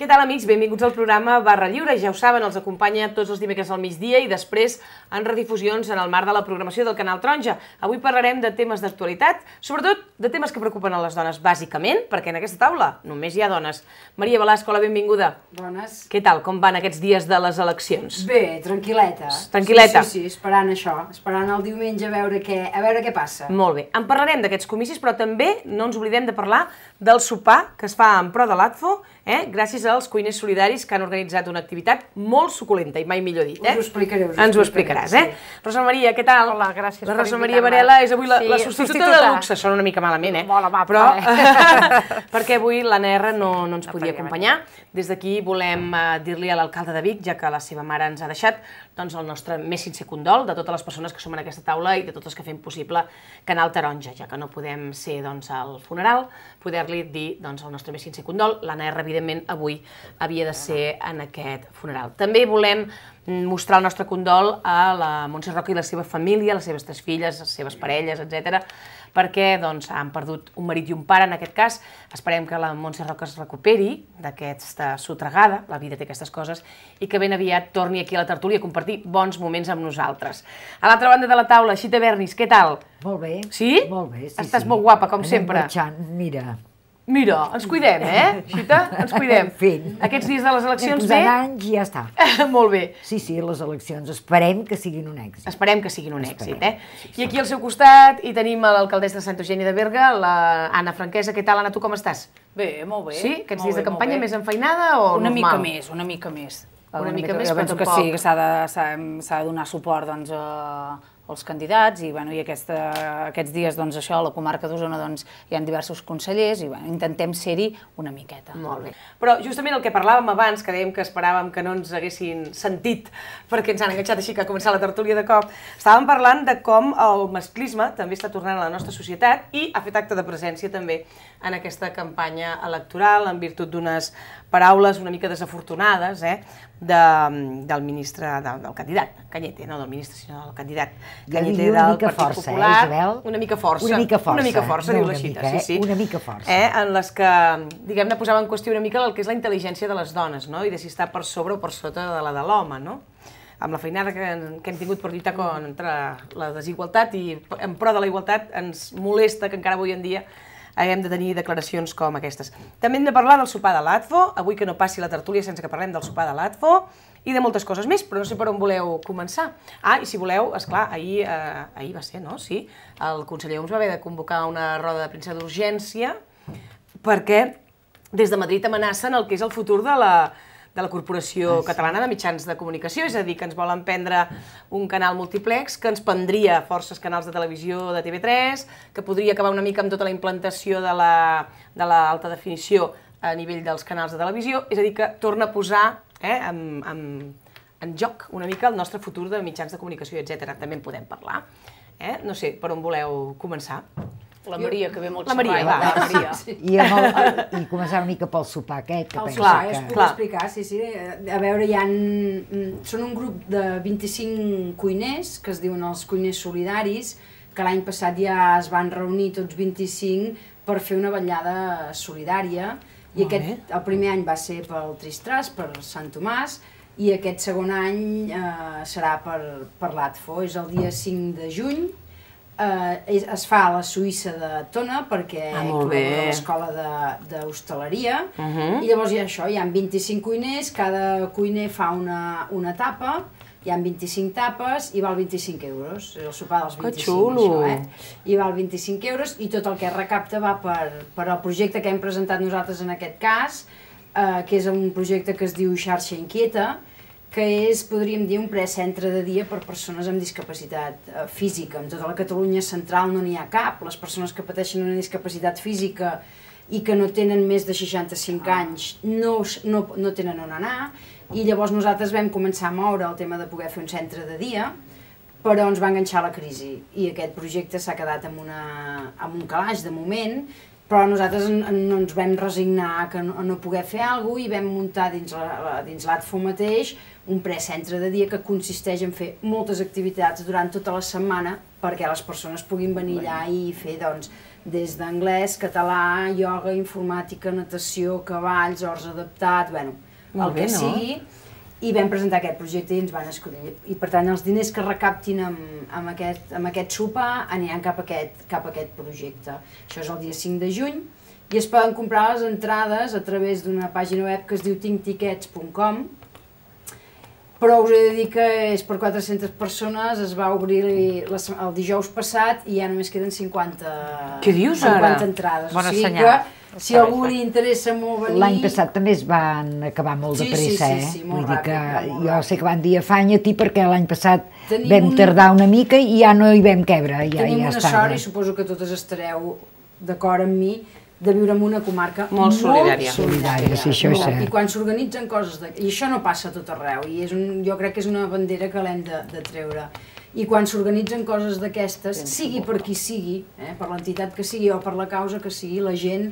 Què tal, amics? Benvinguts al programa Barra Lliure. Ja ho saben, els acompanya tots els dimecres al migdia i després en redifusions en el marc de la programació del Canal Taronja. Avui parlarem de temes d'actualitat, sobretot de temes que preocupen a les dones, bàsicament, perquè en aquesta taula només hi ha dones. Maria Velasco, la benvinguda. Bones. Què tal? Com van aquests dies de les eleccions? Bé, tranquil·leta. Tranquil·leta? Sí, esperant això. Esperant el diumenge a veure què passa. Molt bé. En parlarem d'aquests comicis, però també no ens oblidem de parlar del sopar que es fa en pro de l'ATFO, gràcies als cuiners solidaris que han organitzat una activitat molt suculenta, i mai millor dit. Us ho explicaré. Ens ho explicaràs, eh? Sí. Rosa Maria, què tal? Hola, gràcies per La Rosa Maria Varela és avui la substituta de luxe. Sona una mica malament, Molt amable. Però perquè avui l'Anna R no ens podia acompanyar. Des d'aquí volem dir-li a l'alcalde de Vic, ja que la seva mare ens ha deixat, doncs el nostre més sincer condol de totes les persones que som en aquesta taula i de totes que fem possible Canal Taronja, ja que no podem ser al funeral, poder-li dir el nostre més sincer condol. L'Anna R, evidentment, avui havia de ser en aquest funeral. També volem mostrar el nostre condol a la Montse Roca i la seva família, les seves 3 filles, les seves parelles, etc., perquè han perdut un marit i un pare, en aquest cas. Esperem que la Montse Roca es recuperi d'aquesta sotregada, la vida té aquestes coses, i que ben aviat torni aquí a la tertúlia a compartir bons moments amb nosaltres. A l'altra banda de la taula, Xita Bernis, què tal? Molt bé. Sí? Molt bé, sí. Estàs molt guapa, com sempre. Anem marxant, mira. Mira, ens cuidem, Xita? Ens cuidem. Fent. Aquests dies de les eleccions bé? Anys i ja està. Molt bé. Sí, les eleccions. Esperem que siguin un èxit. Esperem que siguin un èxit, I aquí al seu costat hi tenim l'alcaldessa de Santa Eugènia de Berga, l'Anna Franquesa. Què tal, Anna, tu com estàs? Bé, molt bé. Sí? Aquests dies de campanya més enfeinada o normal? Una mica més. Una mica més, però jo penso que sí, que s'ha de donar suport als candidats i aquests dies a la comarca d'Osona hi ha diversos consellers i intentem ser-hi una miqueta. Molt bé. Però justament el que parlàvem abans, que dèiem que esperàvem que no ens haguessin sentit perquè ens han enganxat així que ha començat la tertúlia de cop, estàvem parlant de com el masclisme també està tornant a la nostra societat i ha fet acte de presència també en aquesta campanya electoral en virtut d'unes paraules una mica desafortunades del ministre, del candidat Cañete, no del ministre, sinó del candidat Cañete del Partit Popular. Una mica força, diu la Xita, sí. Una mica força. En les que, diguem-ne, posava en qüestió una mica el que és la intel·ligència de les dones, i de si està per sobre o per sota de la de l'home, amb la feinada que hem tingut per lluitar contra la desigualtat i en pro de la igualtat ens molesta que encara avui en dia haguem de tenir declaracions com aquestes. També hem de parlar del sopar de l'ATFO, avui que no passi la tertúlia sense que parlem del sopar de l'ATFO i de moltes coses més, però no sé per on voleu començar. I si voleu, esclar, ahir va ser, no? Sí, el conseller Homs va haver de convocar una roda de premsa d'urgència perquè des de Madrid amenacen el que és el futur de la Corporació Catalana de Mitjans de Comunicació, és a dir, que ens volen prendre un canal multiplex que ens prendria forces canals de televisió de TV3, que podria acabar una mica amb tota la implantació de l'alta definició a nivell dels canals de televisió, és a dir, que torna a posar en joc una mica el nostre futur de mitjans de comunicació, etc. També en podem parlar. No sé, per on voleu començar? La Maria, que ve molt xerrada. La Maria, va. I començar una mica pel sopar aquest, que penso que... Us puc explicar, sí. A veure, són un grup de 25 cuiners, que es diuen els cuiners solidaris, que l'any passat ja es van reunir tots 25 per fer una vetllada solidària. I el primer any va ser pel Tristras, per Sant Tomàs, i aquest segon any serà per l'ATFO, és el dia 5 de juny. Es fa a la Suïssa de Tona perquè col·labora l'escola d'hostaleria i llavors hi ha 25 cuiners, cada cuiner fa una tapa, hi ha 25 tapes i val 25 euros, és el sopar dels 25. Que xulo! I val 25 euros i tot el que es recapta va per al projecte que hem presentat nosaltres en aquest cas, que és un projecte que es diu Xarxa Inquieta, que és, podríem dir, un precentre de dia per persones amb discapacitat física. En tota la Catalunya central no n'hi ha cap. Les persones que pateixen una discapacitat física i que no tenen més de 65 anys no tenen on anar, i llavors nosaltres vam començar a moure el tema de poder fer un centre de dia, però ens va enganxar la crisi, i aquest projecte s'ha quedat amb un calaix de moment, però nosaltres no ens vam resignar a no poder fer alguna cosa i vam muntar dins l'ATFO mateix un precentre de dia que consisteix en fer moltes activitats durant tota la setmana perquè les persones puguin venir allà i fer, doncs, des d'anglès, català, ioga, informàtica, natació, cavalls, horts adaptat, bueno, el que sigui. I vam presentar aquest projecte i ens van escollir. I per tant, els diners que recaptin amb aquest sopar aniran cap a aquest projecte. Això és el dia 5 de juny i es poden comprar les entrades a través d'una pàgina web que es diu tinktickets.com, però us he de dir que és per 400 persones, es va obrir el dijous passat i ja només queden 50 entrades. Bona senyal. Si a algú li interessa molt venir... L'any passat també es van acabar molt de pressa, Sí, molt ràpid. Jo sé que van dir afanya-t'hi perquè l'any passat vam tardar una mica i ja no hi vam quebre. Tenim una sort i suposo que totes estareu d'acord amb mi de viure en una comarca molt solidària. Sí, això és cert. I quan s'organitzen coses... I això no passa a tot arreu, i jo crec que és una bandera que l'hem de treure. I quan s'organitzen coses d'aquestes, sigui per qui sigui, per l'entitat que sigui o per la causa que sigui, la gent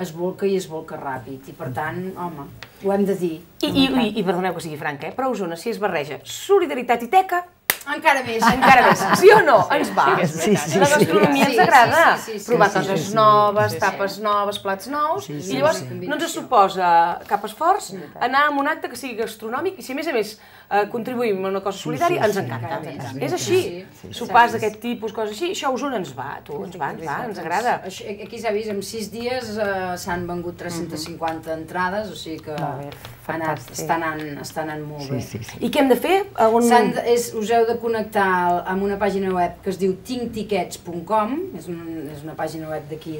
es volca i es volca ràpid. I per tant, home, ho hem de dir. I perdoneu que sigui franca, però a Osona, si es barreja solidaritat i teca, encara més. Sí o no? Ens va. La gastronomia ens agrada. Provar coses noves, tapes noves, plats nous, i llavors no ens suposa cap esforç anar a un acte que sigui gastronòmic i si a més contribuïm a una cosa solidària, ens encanta. És així. Sopars d'aquest tipus, coses així, això a Osona ens va, ens agrada. Aquí s'ha vist, en 6 dies s'han vengut 350 entrades, o sigui que està anant molt bé. I què hem de fer? Us heu de connectar amb una pàgina web que es diu tinktickets.com, és una pàgina web d'aquí,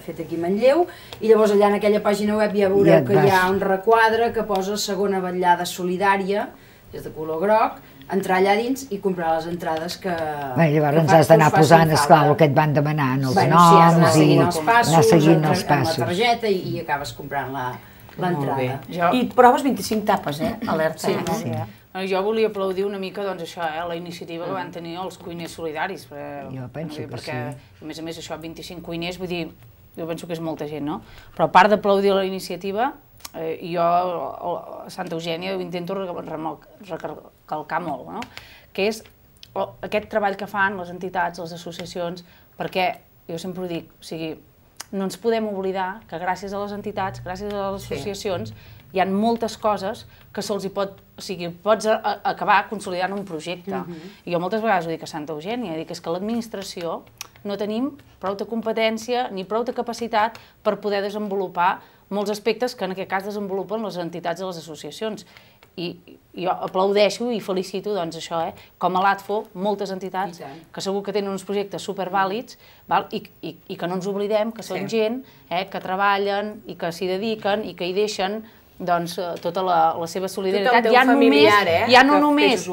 feta aquí a Manlleu, i llavors allà en aquella pàgina web ja veureu que hi ha un requadre que posa segona vetllada solidària, és de color groc, entrar allà dins i comprar les entrades que... Llavors ens has d'anar posant, esclar, el que et van demanant, els noms i anar seguint els passos. Amb la targeta i acabes comprant l'entrada. I proves 25 tapes, alerta. Jo volia aplaudir una mica, doncs, això, la iniciativa que van tenir els cuiners solidaris. Jo penso que sí. Perquè, a més, això, 25 cuiners, vull dir, jo penso que és molta gent, no? Però a part d'aplaudir la iniciativa, jo a Santa Eugènia ho intento recalcar molt, no? Que és aquest treball que fan les entitats, les associacions, perquè, jo sempre ho dic, o sigui, no ens podem oblidar que gràcies a les entitats, gràcies a les associacions, hi ha moltes coses que se'ls hi pot... O sigui, pots acabar consolidant un projecte. I jo moltes vegades ho dic a Santa Eugènia, dic és que l'administració no tenim prou de competència ni prou de capacitat per poder desenvolupar molts aspectes que en aquest cas desenvolupen les entitats i les associacions. I jo aplaudeixo i felicito, doncs, això, com a l'ATFO, moltes entitats que segur que tenen uns projectes supervàlids i que no ens oblidem que són gent que treballen i que s'hi dediquen i que hi deixen tota la seva solidaritat. Ja no només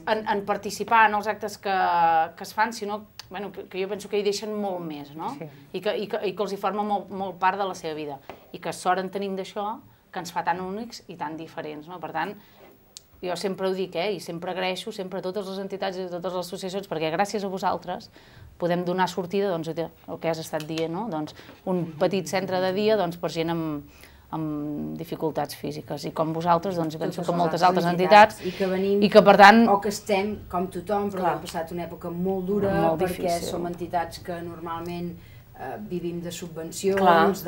en participar en els actes que es fan, sinó que jo penso que hi deixen molt més, no? I que els hi forma molt part de la seva vida. I que sort en tenim d'això, que ens fa tan únics i tan diferents, no? Per tant, jo sempre ho dic, i sempre agraeixo sempre a totes les entitats i a totes les associacions, perquè gràcies a vosaltres podem donar sortida, doncs, el que has estat dient, no? Doncs, un petit centre de dia per gent amb dificultats físiques. I com vosaltres, doncs, penso que moltes altres entitats i que venim, i que, per tant... o que estem, com tothom, però hem passat una època molt dura perquè som entitats que normalment vivim de subvencions,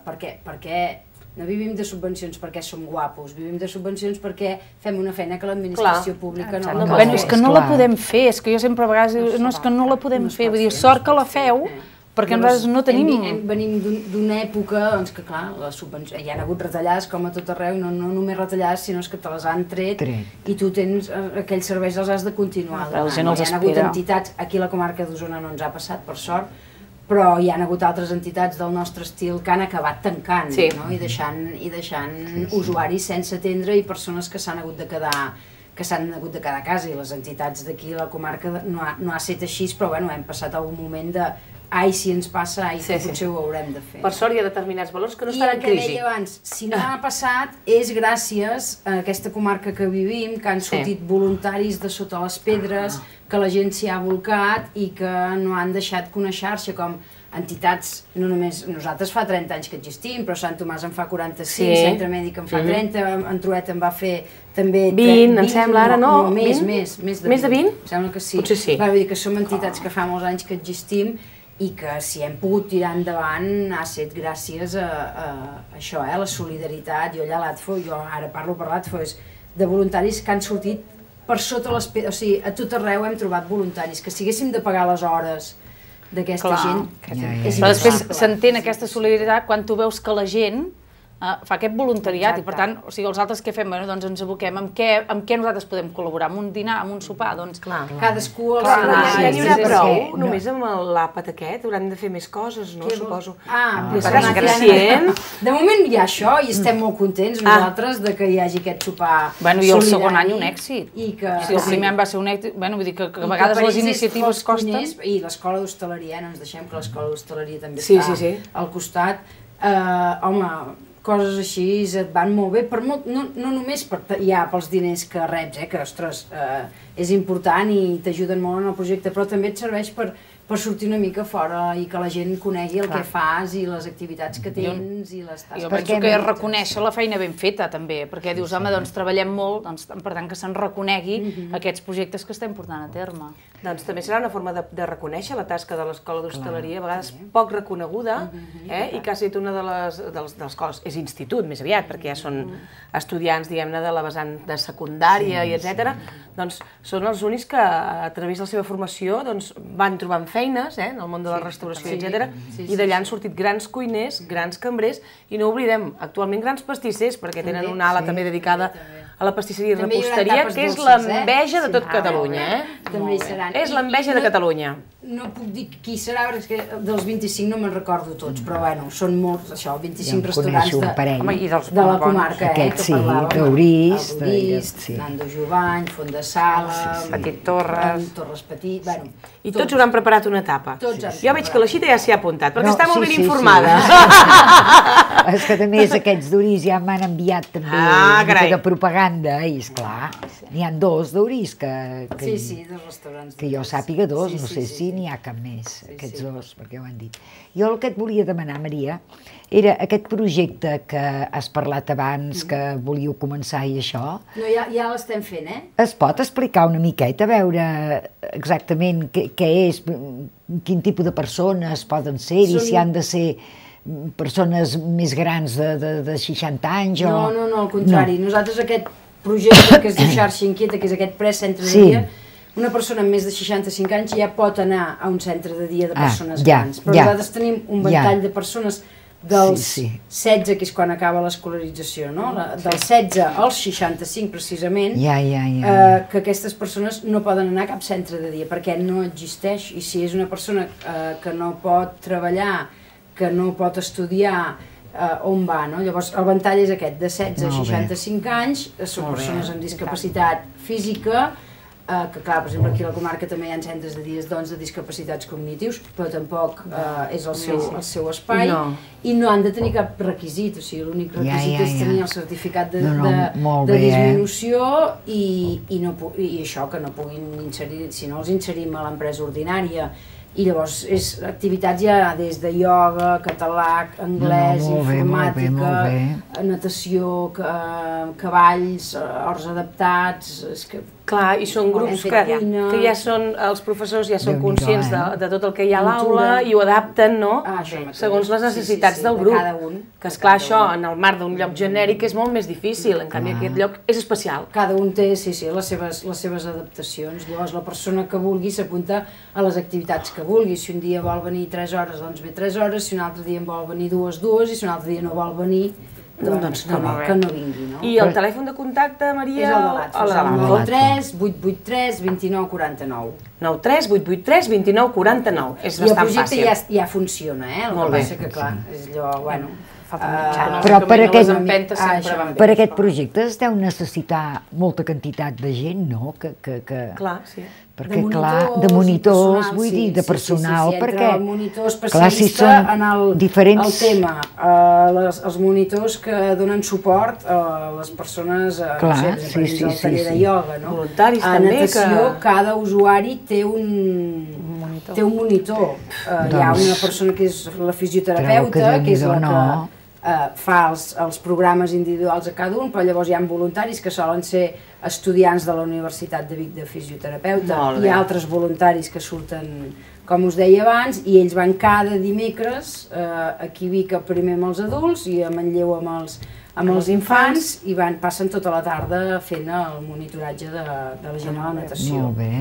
perquè no vivim de subvencions perquè som guapos, vivim de subvencions perquè fem una feina que l'administració pública no la pot fer. És que no la podem fer, és que jo sempre a vegades dic, no, és que no la podem fer, vull dir, sort que la feu, perquè nosaltres no tenim... Venim d'una època, doncs que clar, hi ha hagut retallades com a tot arreu, no només retallades, sinó que te les han tret i tu tens aquells serveis, els has de continuar. La gent els espera. Hi ha hagut entitats, aquí a la comarca d'Osona no ens ha passat, per sort, però hi ha hagut altres entitats del nostre estil que han acabat tancant i deixant usuaris sense atendre i persones que s'han hagut de quedar a casa, i les entitats d'aquí a la comarca no ha estat així, però hem passat algun moment de ai, si ens passa, ai, que potser ho haurem de fer. Per sort hi ha determinats valors que no estan en crisi. I el que deia abans, si no ha passat és gràcies a aquesta comarca que vivim, que han sortit voluntaris de sota les pedres, que la gent s'hi ha volcat i que no han deixat que una xarxa com entitats, no només nosaltres fa 30 anys que existim, però Sant Tomàs en fa 45, Centre Mèdic en fa 30, en Truet en va fer també 20, em sembla, ara no? Més de 20? Em sembla que sí. Potser sí. Vull dir que som entitats que fa molts anys que existim i que si hem pogut tirar endavant ha estat gràcies a això, a la solidaritat. Jo allà a l'ATFO, jo ara parlo per l'ATFO, és de voluntaris que han sortit per sota les... O sigui, a tot arreu hem trobat voluntaris, que si haguéssim de pagar les hores d'aquesta gent... Però després s'entén aquesta solidaritat quan tu veus que la gent fa aquest voluntariat i per tant, o sigui, els altres què fem? Bueno, doncs ens aboquem amb què nosaltres podem col·laborar, amb un dinar, amb un sopar, doncs... Cadascú... Ja n'hi haurà prou, només amb l'àpat aquest, hauran de fer més coses, no? Suposo. De moment hi ha això i estem molt contents nosaltres de que hi hagi aquest sopar solidari. Bueno, i el segon any un èxit. Si el primer any va ser un èxit, bueno, vull dir que a vegades les iniciatives costen... I l'escola d'hostaleria, no ens deixem que l'escola d'hostaleria també està al costat. Home, coses així et van molt bé, no només pels diners que reps, que ostres, és important i t'ajuden molt en el projecte, però també et serveix per sortir una mica fora i que la gent conegui el que fas i les activitats que tens i les tasques. Jo penso que és reconèixer la feina ben feta també, perquè dius, home, doncs treballem molt, per tant que se'n reconegui aquests projectes que estem portant a terme. Doncs també serà una forma de reconèixer la tasca de l'escola d'hostaleria, a vegades poc reconeguda, i que ha estat una de les coses, és institut més aviat, perquè ja són estudiants, diguem-ne, de la vessant de secundària i etc. Doncs són els únics que a través de la seva formació van trobant feines en el món de la restauració, etc. I d'allà han sortit grans cuiners, grans cambrers, i no oblidem, actualment grans pastissers, perquè tenen una ala també dedicada a la pastisseria i reposteria, que és l'enveja de tot Catalunya. També hi seran. És l'enveja de Catalunya. No puc dir qui serà, perquè dels 25 no me'n recordo tots, però bueno, són molts, això, 25 restaurants de la comarca, Aquest sí, d'Orís, Nando Jovany, Font de Sala, Petit Torres, Torres Petit, bueno... I tots hauran preparat una tapa. Jo veig que la Xita ja s'hi ha apuntat, perquè està molt ben informada. És que també aquests d'Orís ja m'han enviat també una mica de propaganda, i esclar, n'hi ha dos d'Orís que... Sí, dos restaurants. Que jo sàpiga dos, no sé si n'hi ha cap més, aquests dos, perquè ho han dit. Jo el que et volia demanar, Maria, era aquest projecte que has parlat abans, que volíeu començar i això... No, ja l'estem fent, Es pot explicar una miqueta, a veure exactament què és, quin tipus de persones poden ser i si han de ser persones més grans de 60 anys o... No, al contrari. Nosaltres aquest projecte que es diu Xarxa Inquieta, que és aquest precentre de dia, una persona amb més de 65 anys ja pot anar a un centre de dia de persones grans. Però nosaltres tenim un ventall de persones dels 16, que és quan acaba l'escolarització, no? Dels 16 als 65 precisament, que aquestes persones no poden anar a cap centre de dia perquè no existeix, i si és una persona que no pot treballar, que no pot estudiar, on va, no? Llavors el ventall és aquest, de 16 a 65 anys, són persones amb discapacitat física, que clar, per exemple aquí a la comarca també hi ha centres de dies de discapacitats cognitius, però tampoc és el seu espai, i no han de tenir cap requisit, o sigui, l'únic requisit és tenir el certificat de disminució i això, que no puguin inserir, si no els inserim a l'empresa ordinària. I llavors és activitats ja des de ioga, català, anglès, informàtica, natació, cavalls, horts adaptats... Clar, i són grups que ja són, els professors ja són conscients de tot el que hi ha a l'aula i ho adapten, no?, segons les necessitats del grup. Que esclar, això en el marc d'un lloc genèric és molt més difícil, en canvi aquest lloc és especial. Cada un té, les seves adaptacions. Llavors la persona que vulgui s'apunta a les activitats que vulgui. Si un dia vol venir 3 hores, doncs ve 3 hores, si un altre dia en vol venir 2, i si un altre dia no vol venir, doncs que no vingui, no? I el telèfon de contacte, Maria? És el de l'ATFO, és el 93 883 29 49. 93 883 29 49. És bastant fàcil. I el projecte ja funciona, el que passa que, clar, és allò, bueno... Però per aquest projecte es deu necessitar molta quantitat de gent, no? Clar, sí. Perquè, clar, de monitors, vull dir, de personal, perquè... Entre el monitor especialista en el tema, els monitors que donen suport a les persones, no sé, per exemple, al taller de ioga, no? Voluntaris també, que... A natació, cada usuari té un té un monitor. Hi ha una persona que és la fisioterapeuta, que és la que fa els programes individuals a cada un, però llavors hi ha voluntaris que solen ser estudiants de la Universitat de Vic de fisioterapeuta, hi ha altres voluntaris que surten, com us deia abans, i ells van cada dimecres aquí a Vic primer amb els adults i a Manlleu amb els infants i passen tota la tarda fent el monitoratge de la gent a la natació. Molt bé,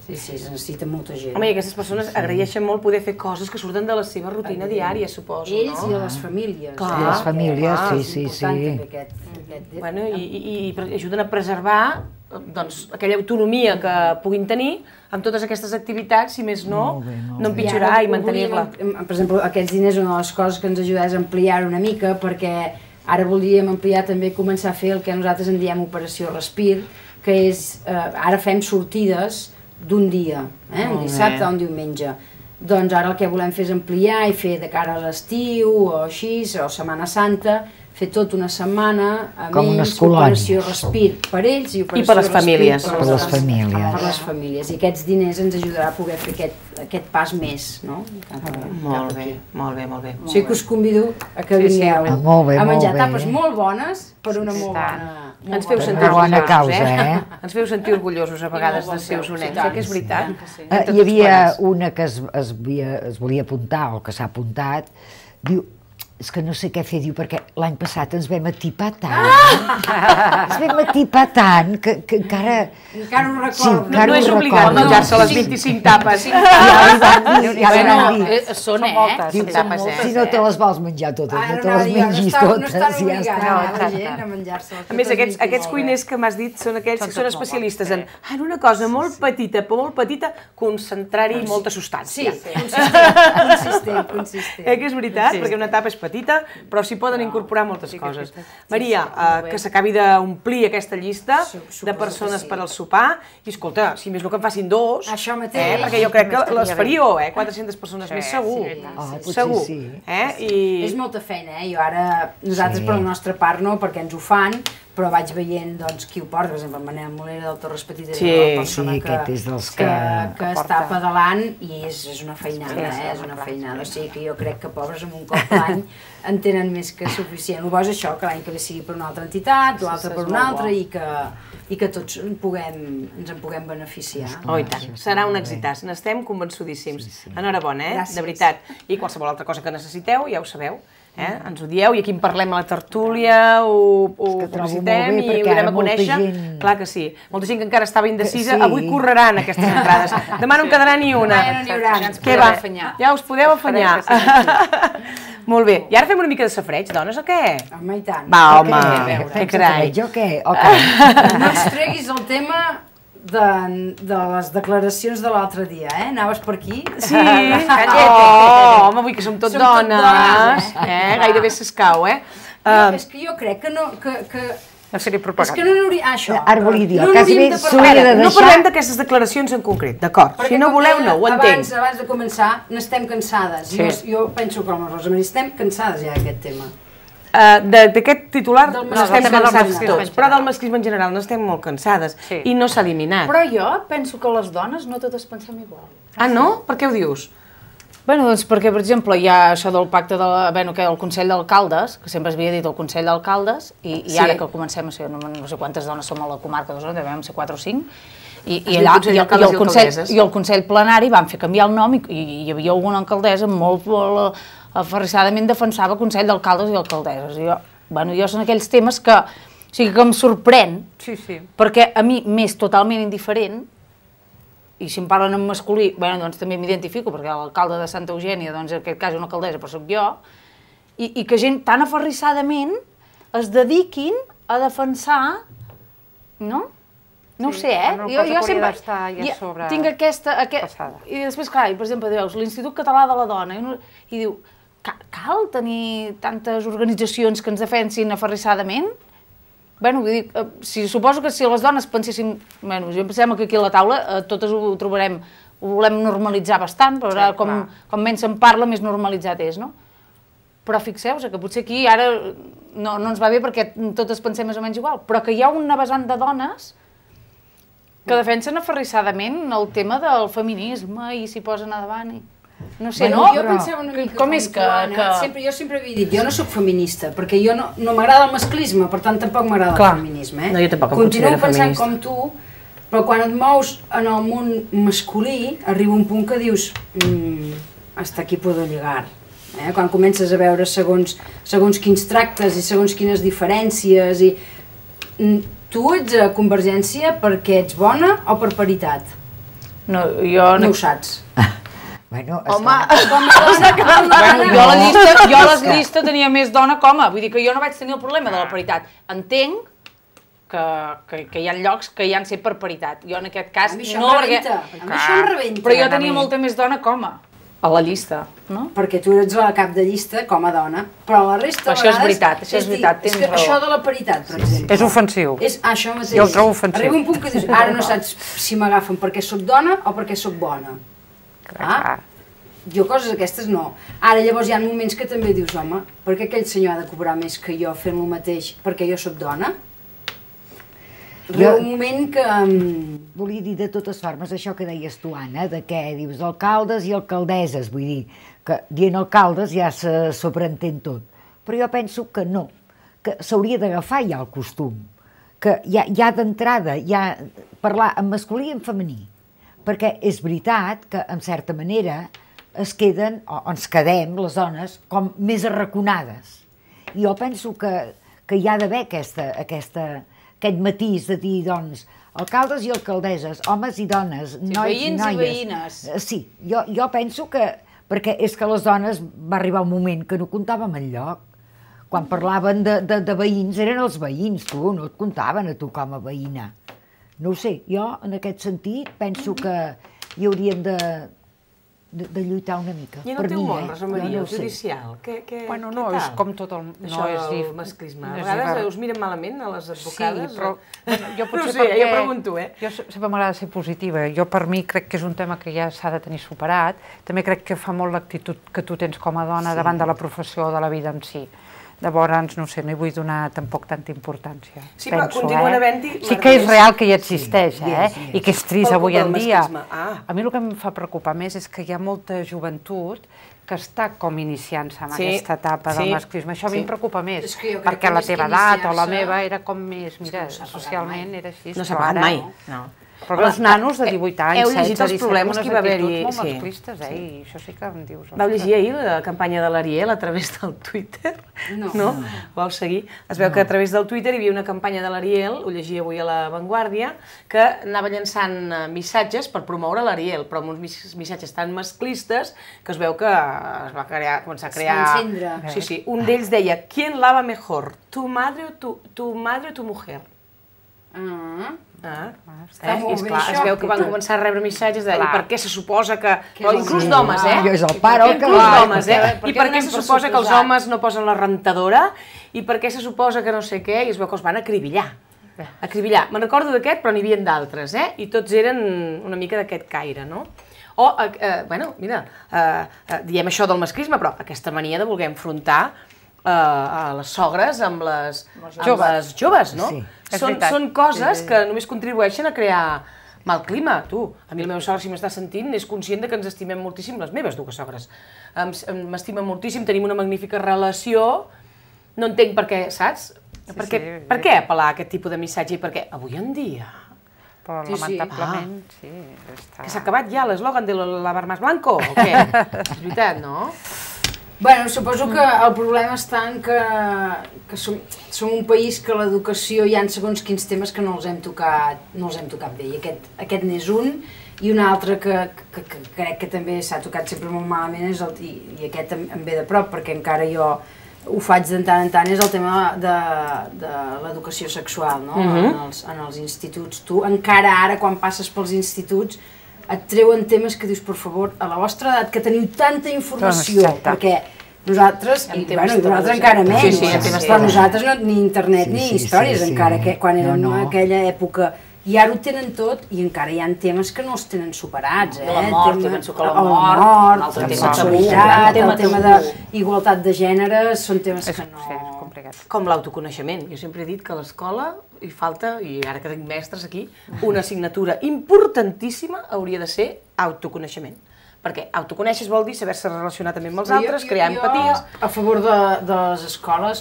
Sí, es necessita molta gent. Home, i aquestes persones agraeixen molt poder fer coses que surten de la seva rutina diària, suposo, no? Ells i a les famílies. Clar. Les famílies, sí. És important també aquest... Bueno, i ajuden a preservar aquella autonomia que puguin tenir amb totes aquestes activitats, si més no, no empitjorar i mantenir-la. Per exemple, aquests diners, una de les coses que ens ajuda és ampliar una mica, perquè ara voldríem ampliar també, començar a fer el que nosaltres en diem Operació Respir, que és, ara fem sortides d'un dia, un dissabte o un diumenge. Doncs ara el que volem fer és ampliar i fer de cara a l'estiu o així, o Setmana Santa, fer tota una setmana amb ells, Operació Respir per ells i Operació Respir per les famílies. I aquests diners ens ajudarà a poder fer aquest pas més, no? Molt bé. O sigui que us convido a que vingueu a menjar tapes molt bones per una molt bona... Ens feu sentir orgullosos, Ens feu sentir orgullosos a vegades dels seus onets, que és veritat. Hi havia una que es volia apuntar, o que s'ha apuntat, diu, és que no sé què fer, diu, perquè l'any passat ens vam atipar tant, que encara... Encara ho recordo. No és obligat menjar-se les 25 tapes. Ja van dir. Són moltes. Si no te les vols menjar totes, no te les mengis totes. No estan obligant la gent a menjar-se totes. A més, aquests cuiners que m'has dit són aquells que són especialistes en una cosa molt petita, concentrar-hi molta substància. Consistent. Que és veritat, perquè una tapa és petita, però s'hi poden incorporar moltes coses. Maria, que s'acabi d'omplir aquesta llista de persones per al sopar, i escolta, si més no que en facin 2, perquè jo crec que les faríeu, 400 persones més segur. Segur. És molta feina, jo ara, nosaltres per la nostra part no, perquè ens ho fan, però vaig veient qui ho porta, per exemple, el Manel Molera del Torres Petit, és la persona que està pedalant i és una feinada, o sigui que jo crec que pobres amb un cop l'any en tenen més que suficient. El bo és això, que l'any que ve sigui per una altra entitat, l'altre per una altra i que tots ens en puguem beneficiar. Oh, i tant, serà un èxitàs, n'estem convençudíssims. Enhorabona, de veritat. I qualsevol altra cosa que necessiteu, ja ho sabeu. Ens ho dieu i aquí en parlem a la tertúlia, ho publicitem i ho direm a conèixer. Clar que sí. Molta gent que encara estava indecisa, avui correran aquestes entrades. Demà no en quedarà ni una. Què va? Ja us podeu afanyar. Molt bé. I ara fem una mica de safareig, dones, o què? Home, i tant. Va, home, que carai. Jo què? No ens treguis el tema de les declaracions de l'altre dia, Anaves per aquí? Sí, home, avui que som tot dones, gairebé s'escau, És que jo crec que no... No seria propaganda. És que no n'hauria... Això. Ara volia dir, no parlem d'aquestes declaracions en concret, d'acord. Si no voleu, no, ho entenc. Abans de començar, n'estem cansades. Jo penso com la Rosa Maria, estem cansades ja d'aquest tema. D'aquest titular n'estem cansats tots, però del masclisme en general n'estem molt cansades i no s'ha eliminat. Però jo penso que les dones no totes pensem igual. Ah, no? Per què ho dius? Bé, doncs perquè, per exemple, hi ha això del pacte del Consell d'Alcaldes, que sempre s'havia dit el Consell d'Alcaldes, i ara que comencem a ser, no sé quantes dones som a la comarca d'Osona, devem ser 4 o 5, i el Consell Plenari van fer canviar el nom i hi havia alguna alcaldessa molt aferrissadament defensava Consell d'Alcaldes i Alcaldesses. Jo són aquells temes que em sorprèn, perquè a mi m'és totalment indiferent, i si em parlen en masculí, doncs també m'identifico, perquè l'alcalde de Santa Eugènia, doncs en aquest cas és una alcaldessa, però soc jo, i que gent tan aferrissadament es dediquin a defensar, no? No ho sé, jo sempre tinc aquesta... I després, clar, per exemple, dius, l'Institut Català de la Dona, i diu, cal tenir tantes organitzacions que ens defensin aferrissadament? Bé, vull dir, suposo que si les dones penséssim... Bé, jo em sembla que aquí a la taula totes ho trobarem, ho volem normalitzar bastant, però com menys se'n parla, més normalitzat és, no? Però fixeu-vos que potser aquí ara no ens va bé perquè totes pensem més o menys igual, però que hi ha una vessant de dones Que defensen aferrissadament el tema del feminisme i s'hi posen a davant. No sé, bueno, jo pensava una mica com és tu, Anna. Jo sempre havia dit, jo no sóc feminista, perquè jo no m'agrada el masclisme, per tant tampoc m'agrada el feminisme. No, jo tampoc em considero feminista. Continuo pensant com tu, però quan et mous en el món masculí, arriba un punt que dius hasta aquí puedo llegar. Quan comences a veure segons quins tractes i segons quines diferències i... Tu ets a Convergència perquè ets bona o per paritat? No, jo... No ho saps. Bueno, home, jo a la llista tenia més dona que home, vull dir que jo no vaig tenir el problema de la paritat. Entenc que hi ha llocs que hi han set per paritat. Jo en aquest cas no, perquè... A mi això em rebenta. Però jo tenia molta més dona que home a la llista, no? Perquè tu ets la cap de llista com a dona, però la resta Això és veritat, tens raó. Això de la paritat, per exemple. És ofensiu. Això mateix. Jo el trobo ofensiu. Arriba un punt que dius, ara no saps si m'agafen perquè sóc dona o perquè sóc bona. Jo coses aquestes no. Ara llavors hi ha moments que també dius, home, per què aquell senyor ha de cobrar més que jo fent el mateix perquè jo sóc dona? Arriba un moment que... Volia dir de totes formes això que deies tu, Anna, de què dius d'alcaldes i alcaldesses, vull dir, que dient alcaldes ja se sobreentén tot. Però jo penso que no, que s'hauria d'agafar ja el costum, que ja d'entrada, ja parlar en masculí i en femení, perquè és veritat que, en certa manera, es queden, o ens quedem, les dones, com més arraconades. I jo penso que hi ha d'haver aquest matís de dir, doncs, alcaldes i alcaldesses, homes i dones, nois i noies. Veïns i veïnes. Sí, jo penso que, perquè és que les dones va arribar un moment que no comptàvem enlloc. Quan parlaven de veïns, eren els veïns, tu, no et comptaven a tu com a veïna. No ho sé, jo en aquest sentit penso que hi hauríem de lluitar una mica. I en el teu món, Rosa Maria, el judicial, bueno, no, és com tot el... Això del masclisme. A vegades us miren malament a les advocades? Sí, però jo potser perquè... No sé, jo pregunto, Jo sempre m'agrada ser positiva. Jo per mi crec que és un tema que ja s'ha de tenir superat. També crec que fa molt l'actitud que tu tens com a dona davant de la professió o de la vida en si. Llavors, no sé, no hi vull donar tampoc tanta importància. Sí, però continuen havent-hi... Sí que és real que hi existeix, i que és trist avui en dia. A mi el que em fa preocupar més és que hi ha molta joventut que està com iniciant-se en aquesta etapa del masclisme. Això a mi em preocupa més, perquè la teva edat o la meva era com més, mira, socialment era així. No s'ha pagat mai, no. Però veus nanos de 18 anys, 16, 17, heu llegit els problemes que hi va haver-hi... molt masclistes, i això sí que em dius... Vau llegir ahir la campanya de l'Ariel a través del Twitter? No? Vau seguir? Es veu que a través del Twitter hi havia una campanya de l'Ariel, ho llegia avui a La Vanguardia, que anava llançant missatges per promoure l'Ariel, però amb uns missatges tan masclistes que es veu que es va començar a crear... Sí, un d'ells deia, ¿quién lava mejor? ¿Tu madre o tu mujer? Es veu que van començar a rebre missatges de i per què se suposa que... Inclús d'homes, És el pare el que I per què se suposa que els homes no posen la rentadora i per què se suposa que no sé què, i es veu que els van acribillar. Me'n recordo d'aquest, però n'hi havia d'altres, i tots eren una mica d'aquest caire, no? O, bueno, mira, diem això del masclisme, però aquesta mania de voler enfrontar a les sogres amb les joves, no? Són coses que només contribueixen a crear mal clima. Tu, a mi la meva sogra, si m'està sentint, és conscient que ens estimem moltíssim, les meves dues sogres. M'estimen moltíssim, tenim una magnífica relació, no entenc per què, saps? Per què apel·lar a aquest tipus de missatge i per què? Avui en dia... Però lamentablement, sí, Que s'ha acabat ja l'eslògan de lavar más blanco, o què? És veritat, no? Bueno, suposo que el problema està en que som un país que l'educació hi ha segons quins temes que no els hem tocat bé, i aquest n'és un, i un altre que crec que també s'ha tocat sempre molt malament, i aquest em ve de prop, perquè encara jo ho faig de tant en tant, és el tema de l'educació sexual, no? En els instituts. Tu encara ara, quan passes pels instituts, et treuen temes que dius, per favor, a la vostra edat, que teniu tanta informació, perquè nosaltres, i nosaltres encara menys, però nosaltres ni internet ni històries encara, quan érem en aquella època, i ara ho tenen tot i encara hi ha temes que no els tenen superats. La mort, jo penso que la mort, la sexualitat, el tema d'igualtat de gènere, són temes que no... Com l'autoconeixement. Jo sempre he dit que a l'escola hi falta, i ara que tinc mestres aquí, una assignatura importantíssima hauria de ser autoconeixement. Perquè autoconèixer vol dir saber-se relacionar també amb els altres, crear empaties... A favor de les escoles,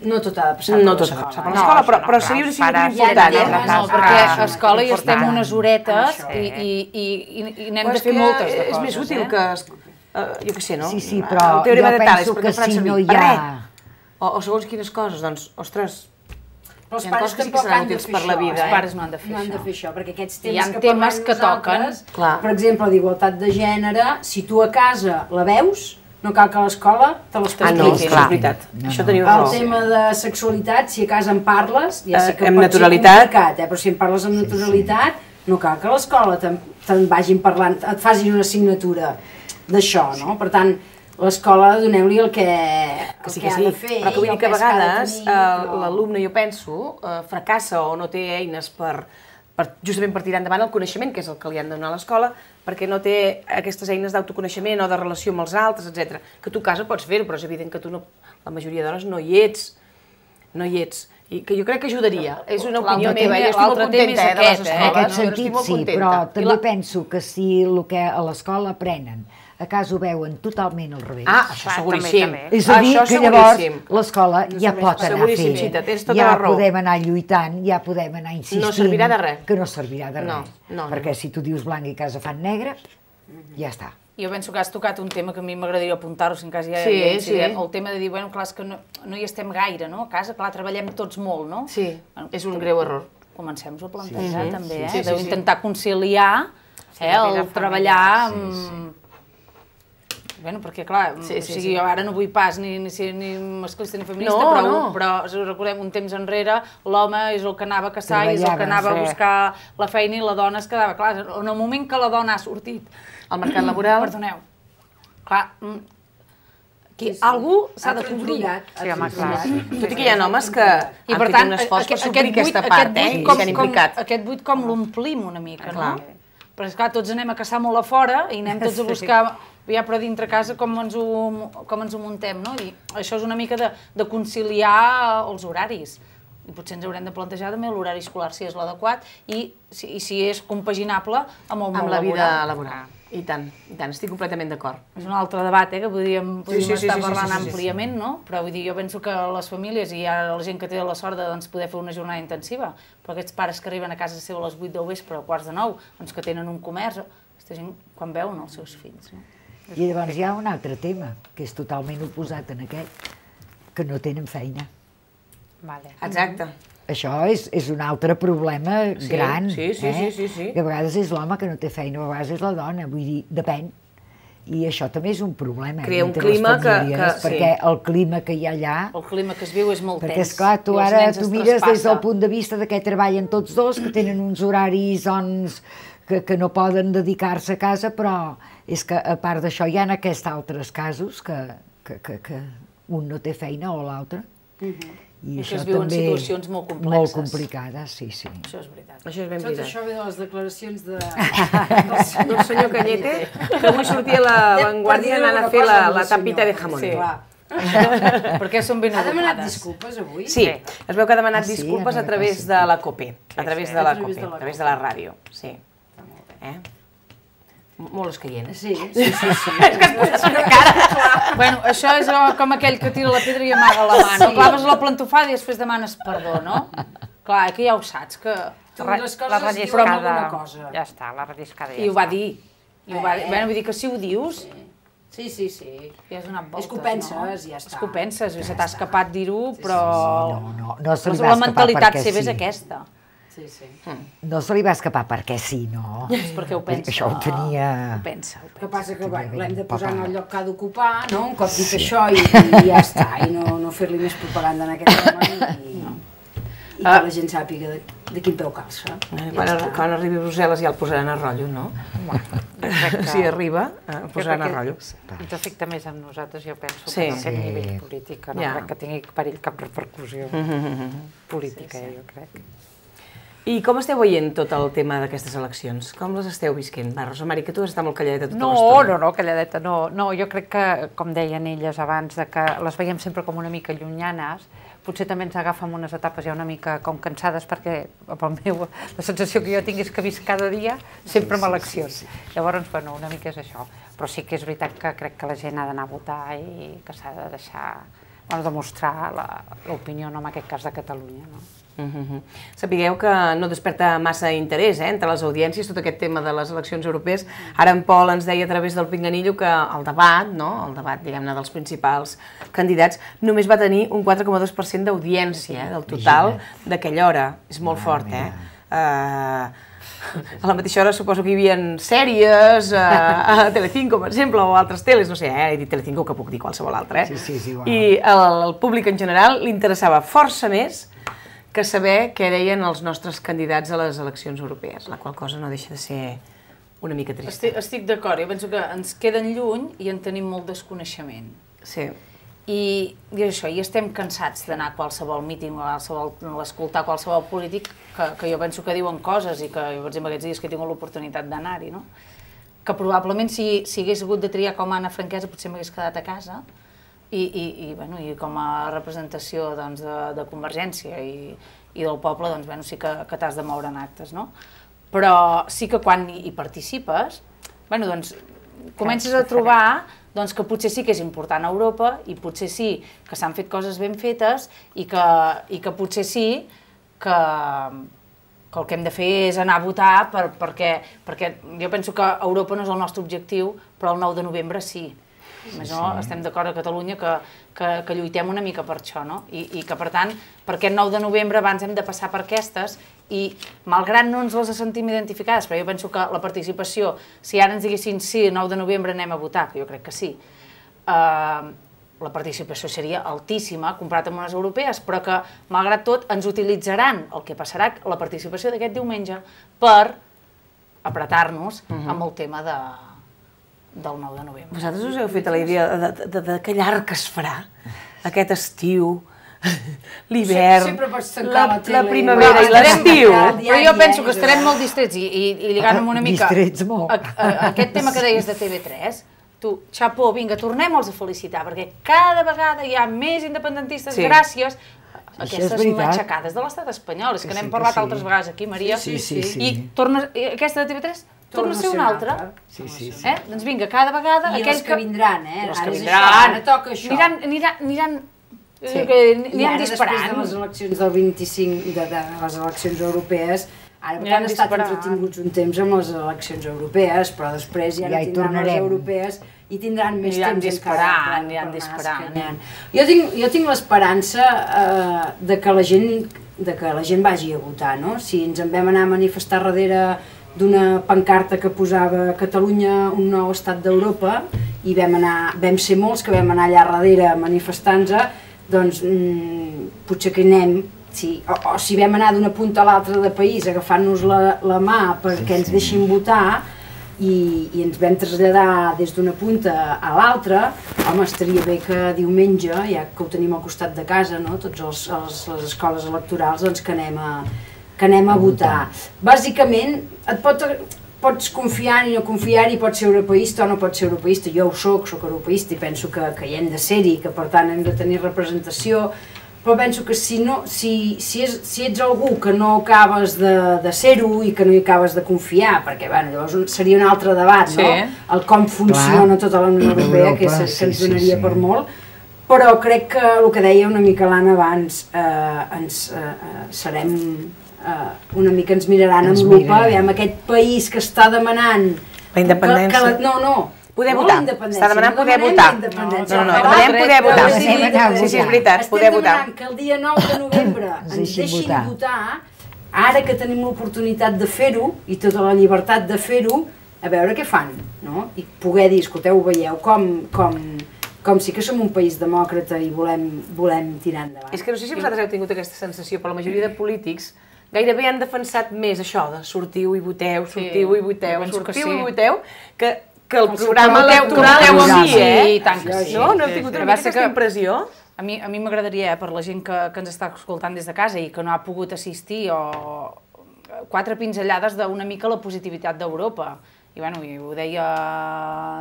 no tot ha de passar per l'escola, però seria una assignatura important. No, perquè a l'escola hi estem unes horetes i n'hem de fer moltes de coses. És més útil que... Jo què sé, no? Sí, però jo penso que si no hi ha... O segons quines coses, doncs, ostres... Però els pares tampoc han de fer això. Els pares no han de fer això. No han de fer això, perquè aquests temes que toquen... Per exemple, d'igualtat de gènere, si tu a casa la veus, no cal que a l'escola te l'expliquis. No, és veritat. Això teniu raó. El tema de sexualitat, si a casa en parles, ja sé que pot ser complicat, però si en parles amb naturalitat, no cal que a l'escola te'n vagin parlant, et facin una assignatura d'això, no? Per tant, l'escola, doneu-li el que ha de fer. Però que vull dir que a vegades l'alumne, jo penso, fracassa o no té eines justament per tirar endavant el coneixement, que és el que li han de donar a l'escola, perquè no té aquestes eines d'autoconeixement o de relació amb els altres, etc. Que tu a casa pots fer-ho, però és evident que tu la majoria d'hores no hi ets. I que jo crec que ajudaria. És una opinió meva, jo estic molt contenta de les escoles. En aquest sentit sí, però també penso que si el que a l'escola aprenen a casa ho veuen totalment al revés. Això seguríssim. És a dir, que llavors l'escola ja pot anar fent, ja podem anar lluitant, ja podem anar insistint. No servirà de res. Que no servirà de res. Perquè si tu dius blanc i a casa fan negre, ja està. Jo penso que has tocat un tema que a mi m'agradaria apuntar-ho, si en cas ja hi ha incident, el tema de dir, bueno, clar, és que no hi estem gaire, no? A casa, clar, treballem tots molt, no? Sí, és un greu error. Comencem-ho a plantejar, també, d'intentar conciliar el treballar amb... Bueno, perquè clar, jo ara no vull pas ni ser ni masclista ni feminista, però recordem, un temps enrere l'home és el que anava a caçar i és el que anava a buscar la feina i la dona es quedava. Clar, en el moment que la dona ha sortit al mercat laboral... Perdoneu. Clar, algú s'ha de cobrir. Sí, home, clar. Tot i que hi ha homes que han fet un esforç per suplir aquesta part, i s'han implicat. Aquest buit com l'omplim una mica, no? Però és clar, tots anem a caçar molt a fora i anem tots a buscar... Ja, però dintre casa com ens ho muntem, no? I això és una mica de conciliar els horaris. I potser ens haurem de plantejar també l'horari escolar si és l'adequat i si és compaginable amb el món laboral. Amb la vida laboral. I tant, estic completament d'acord. És un altre debat, que podríem estar parlant àmpliament, no? Però vull dir, jo penso que les famílies i ara la gent que té la sort de poder fer una jornada intensiva, però aquests pares que arriben a casa seva a les 8 del vespre o a quarts de 9, que tenen un comerç, aquesta gent quan veuen els seus fills, no? I llavors hi ha un altre tema, que és totalment oposat en aquest, que no tenen feina. Exacte. Això és un altre problema gran, sí. Que a vegades és l'home que no té feina, a vegades és la dona, vull dir, depèn. I això també és un problema. Crea un clima que... Perquè el clima que hi ha allà... El clima que es viu és molt tens. Perquè, esclar, tu ara mires des del punt de vista de què treballen tots dos, que tenen uns horaris, doncs, que no poden dedicar-se a casa, però és que a part d'això hi ha aquests altres casos que un no té feina o l'altre. I això es viu en situacions molt complexes. Molt complicades, sí. Això és veritat. Això és ben veritat. Tot això ve de les declaracions del senyor Cañete, que avui sortia a La Vanguardia anant a fer la tapita de jamón. Sí. Perquè són ben educades. Ha demanat disculpes avui? Sí, es veu que ha demanat disculpes a través de la COPE, a través de la ràdio, sí. Molt escaient. Sí. És que has posat una cara. Bueno, això és com aquell que tira la pedra i amaga la mà, no? Claves la plantofada i després demanes perdó, no? Clar, que ja ho saps, que... La relliscada, ja està, la relliscada ja està. I ho va dir. Bueno, vull dir que si ho dius... Sí. Ja has donat voltes, és que ho penses, ja està. És que ho penses, se t'ha escapat dir-ho, però... No se li va escapar perquè sí. La mentalitat seva és aquesta. Sí. No se li va escapar perquè sí, no? És perquè ho pensa. Això ho tenia... Ho pensa. El que passa que l'hem de posar en el lloc que ha d'ocupar, no? Un cop dit això i ja està, i no fer-li més propaganda en aquest tema i que la gent sàpiga de quin peu calça. Quan arribi a Brussel·les ja el posaran a rotllo, no? Si arriba, el posaran a rotllo. Ens afecta més amb nosaltres, jo penso, que no té nivell polític, no crec que tingui perill cap repercussió política, jo crec. I com esteu veient tot el tema d'aquestes eleccions? Com les esteu visquent? Va, Rosa Mari, que tu has estat molt calladeta tota l'estona. No, calladeta no. No, jo crec que, com deien elles abans, que les veiem sempre com una mica llunyanes, potser també ens agafen unes etapes ja una mica com cansades, perquè la sensació que jo tinc és que visc cada dia sempre amb eleccions. Llavors, bueno, una mica és això. Però sí que és veritat que crec que la gent ha d'anar a votar i que s'ha de deixar, bueno, demostrar l'opinió, en aquest cas de Catalunya, no? Sapigueu que no desperta massa interès entre les audiències tot aquest tema de les eleccions europees. Ara en Pol ens deia a través del Pinganillo que el debat, diguem-ne, dels principals candidats, només va tenir un 4,2% d'audiència del total d'aquella hora. És molt fort, eh? A la mateixa hora suposo que hi havia sèries a Telecinco, per exemple, o altres teles, no sé, he dit Telecinco que puc dir qualsevol altra, i al públic en general li interessava força més que saber què deien els nostres candidats a les eleccions europees, la qual cosa no deixa de ser una mica trista. Estic d'acord, jo penso que ens queden lluny i en tenim molt desconeixement. Sí. I això, i estem cansats d'anar a qualsevol míting o escoltar qualsevol polític que jo penso que diuen coses i que, per exemple, aquests dies que he tingut l'oportunitat d'anar-hi, no? Que probablement si hagués hagut de triar com a Anna Franquesa potser m'hagués quedat a casa i com a representació de Convergència i del poble sí que t'has de moure en actes, no? Però sí que quan hi participes, comences a trobar que potser sí que és important a Europa i potser sí que s'han fet coses ben fetes i que potser sí que el que hem de fer és anar a votar perquè jo penso que Europa no és el nostre objectiu, però el 9 de novembre sí. Estem d'acord a Catalunya que lluitem una mica per això, no? I que, per tant, per aquest 9 de novembre abans hem de passar per aquestes i, malgrat no ens les sentim identificades, però jo penso que la participació, si ara ens diguessin sí, el 9 de novembre anem a votar, que jo crec que sí, la participació seria altíssima, comparat amb unes europees, però que, malgrat tot, ens utilitzaran el que passarà, la participació d'aquest diumenge, per apretar-nos amb el tema del 9 de novembre. Vosaltres us heu fet la idea de que llarg que es farà aquest estiu, l'hivern, la primavera i l'estiu? Però jo penso que estarem molt distrets i lligant una mica aquest tema que deies de TV3, tu, xapó, vinga, tornem-los a felicitar, perquè cada vegada hi ha més independentistes gràcies a aquestes matxacades de l'estat espanyol. És que n'hem parlat altres vegades aquí, Maria, i aquesta de TV3 torna a ser una altra. Doncs vinga, cada vegada... I els que vindran, els que vindran, aniran disparant. Després de les eleccions del 25, de les eleccions europees, ara han estat entretinguts un temps amb les eleccions europees, però després ja no tindran les europees i tindran més temps encara. Aniran disparant. Jo tinc l'esperança de que la gent vagi a votar, no? Si ens en vam anar a manifestar darrere d'una pancarta que posava Catalunya, un nou estat d'Europa, i vam ser molts que vam anar allà darrere manifestant-nos, doncs potser que anem, o si vam anar d'una punta a l'altra de país agafant-nos la mà perquè ens deixin votar i ens vam traslladar des d'una punta a l'altra, home, estaria bé que diumenge, ja que ho tenim al costat de casa, totes les escoles electorals, doncs que anem a votar. Bàsicament, pots confiar-hi o no confiar-hi, pots ser europeista o no pots ser europeista. Jo ho soc europeista i penso que hi hem de ser-hi, que per tant hem de tenir representació, però penso que si ets algú que no acabes de ser-ho i que no hi acabes de confiar, perquè llavors seria un altre debat, no? El com funciona tota la Unió Europea, que ens donaria per molt, però crec que el que deia una mica l'Anna abans, serem una mica, ens miraran amb lupa, aviam, aquest país que està demanant la independència. Poder votar. Està demanant poder votar. No, demanem poder votar. Sí, és veritat, poder votar. Estem demanant que el dia 9 de novembre ens deixin votar, ara que tenim l'oportunitat de fer-ho i tota la llibertat de fer-ho, a veure què fan, no? I poder dir, escolteu, veieu com sí que som un país demòcrata i volem tirar endavant. És que no sé si vosaltres heu tingut aquesta sensació, però la majoria de polítics gairebé han defensat més això de sortiu i voteu, sortiu i voteu, que el programa electoral en si, No heu tingut una mica aquesta impressió? A mi m'agradaria, per la gent que ens està escoltant des de casa i que no ha pogut assistir, o 4 pinzellades d'una mica la positivitat d'Europa. i ho deia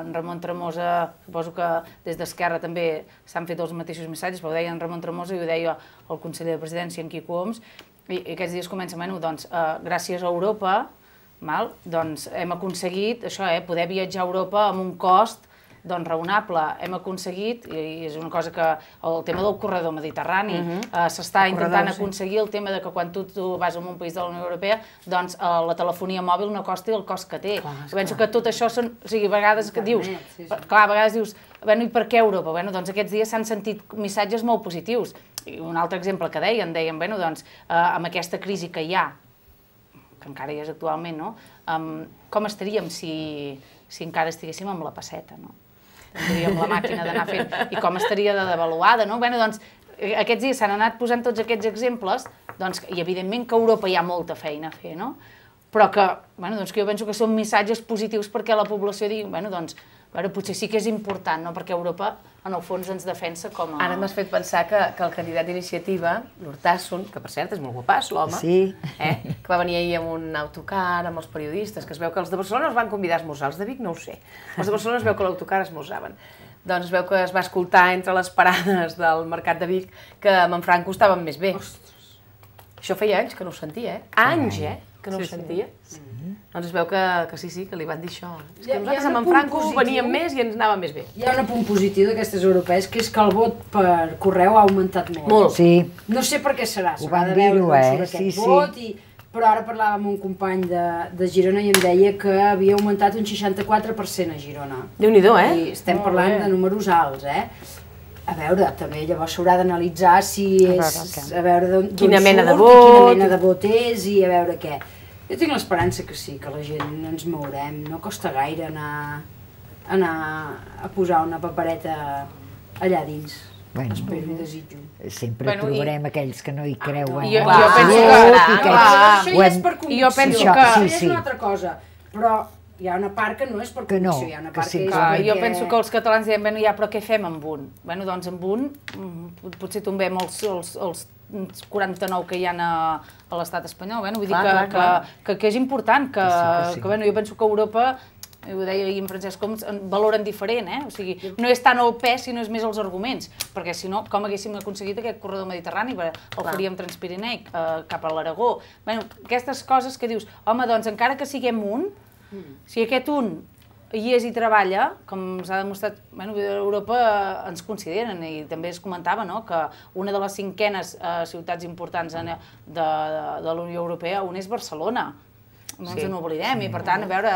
en Ramon Tremosa, suposo que des d'Esquerra també s'han fet els mateixos missatges, però ho deia en Ramon Tremosa i ho deia el conseller de Presidència, en Quico Homs, i aquests dies comencen, gràcies a Europa, doncs hem aconseguit això, poder viatjar a Europa amb un cost raonable. Hem aconseguit, i és una cosa que el tema del corredor mediterrani, s'està intentant aconseguir el tema de que quan tu vas a un país de la Unió Europea, doncs la telefonia mòbil no costi el cost que té. Penso que tot això són, o sigui, a vegades que dius, clar, a vegades dius, i per què Europa? Doncs aquests dies s'han sentit missatges molt positius. I un altre exemple que deien, doncs, amb aquesta crisi que hi ha, que encara hi és actualment, no? Com estaríem si encara estiguéssim amb la pesseta, no? Tindríem la màquina d'anar fent. I com estaria de devaluada, no? Doncs aquests dies s'han anat posant tots aquests exemples, i evidentment que a Europa hi ha molta feina a fer, no? Però que jo penso que són missatges positius perquè la població digui, potser sí que és important, no? Perquè Europa, en el fons, ens defensa com a... Ara m'has fet pensar que el candidat d'iniciativa, l'Urtasun, que per cert és molt guapàs, l'home, que va venir ahir amb un autocar, amb els periodistes, que es veu que els de Barcelona els van convidar a esmorzar, els de Vic no ho sé. Els de Barcelona es veu que a l'autocar esmorzaven. Doncs es veu que es va escoltar entre les parades del Mercat de Vic que a Manfranco estaven més bé. Això feia anys que no ho sentia, Anys, que no ho sentia. Doncs es veu que sí, que li van dir això. És que nosaltres a Manfranco veníem més i ens anava més bé. Hi ha un punt positiu d'aquestes europees, que és que el vot per correu ha augmentat molt. Molt. Sí. No sé per què serà, ho van dir-ho, aquest vot, però ara parlava amb un company de Girona i em deia que havia augmentat un 64% a Girona. Déu-n'hi-do, I estem parlant de números alts, A veure, també llavors s'haurà d'analitzar si és... A veure d'on surt, quina mena de vot és i a veure què. Jo tinc l'esperança que sí, que la gent ens mourem. No costa gaire anar a posar una papereta allà dins. Espero i desitjo. Sempre trobarem aquells que no hi creuen. Jo penso que... Això ja és per convicció. Això és una altra cosa. Però hi ha una part que no és per convicció. Hi ha una part que és perquè... Jo penso que els catalans diuen, però què fem amb un? Doncs amb un potser tombem els 49 que hi ha a l'estat espanyol. Vull dir que és important, que jo penso que Europa, ho deia ahir en Francesc Homs, valoren diferent, O sigui, no és tant el pes, sinó és més els arguments, perquè si no, com haguéssim aconseguit aquest corredor mediterrani? El faríem transpirineic cap a l'Aragó. Aquestes coses que dius, home, doncs encara que siguem un, si aquest un hi és i treballa, com s'ha demostrat, a Europa ens consideren, i també es comentava que una de les 5enes ciutats importants de la Unió Europea, una és Barcelona. No ens n'oblidem, i per tant, a veure,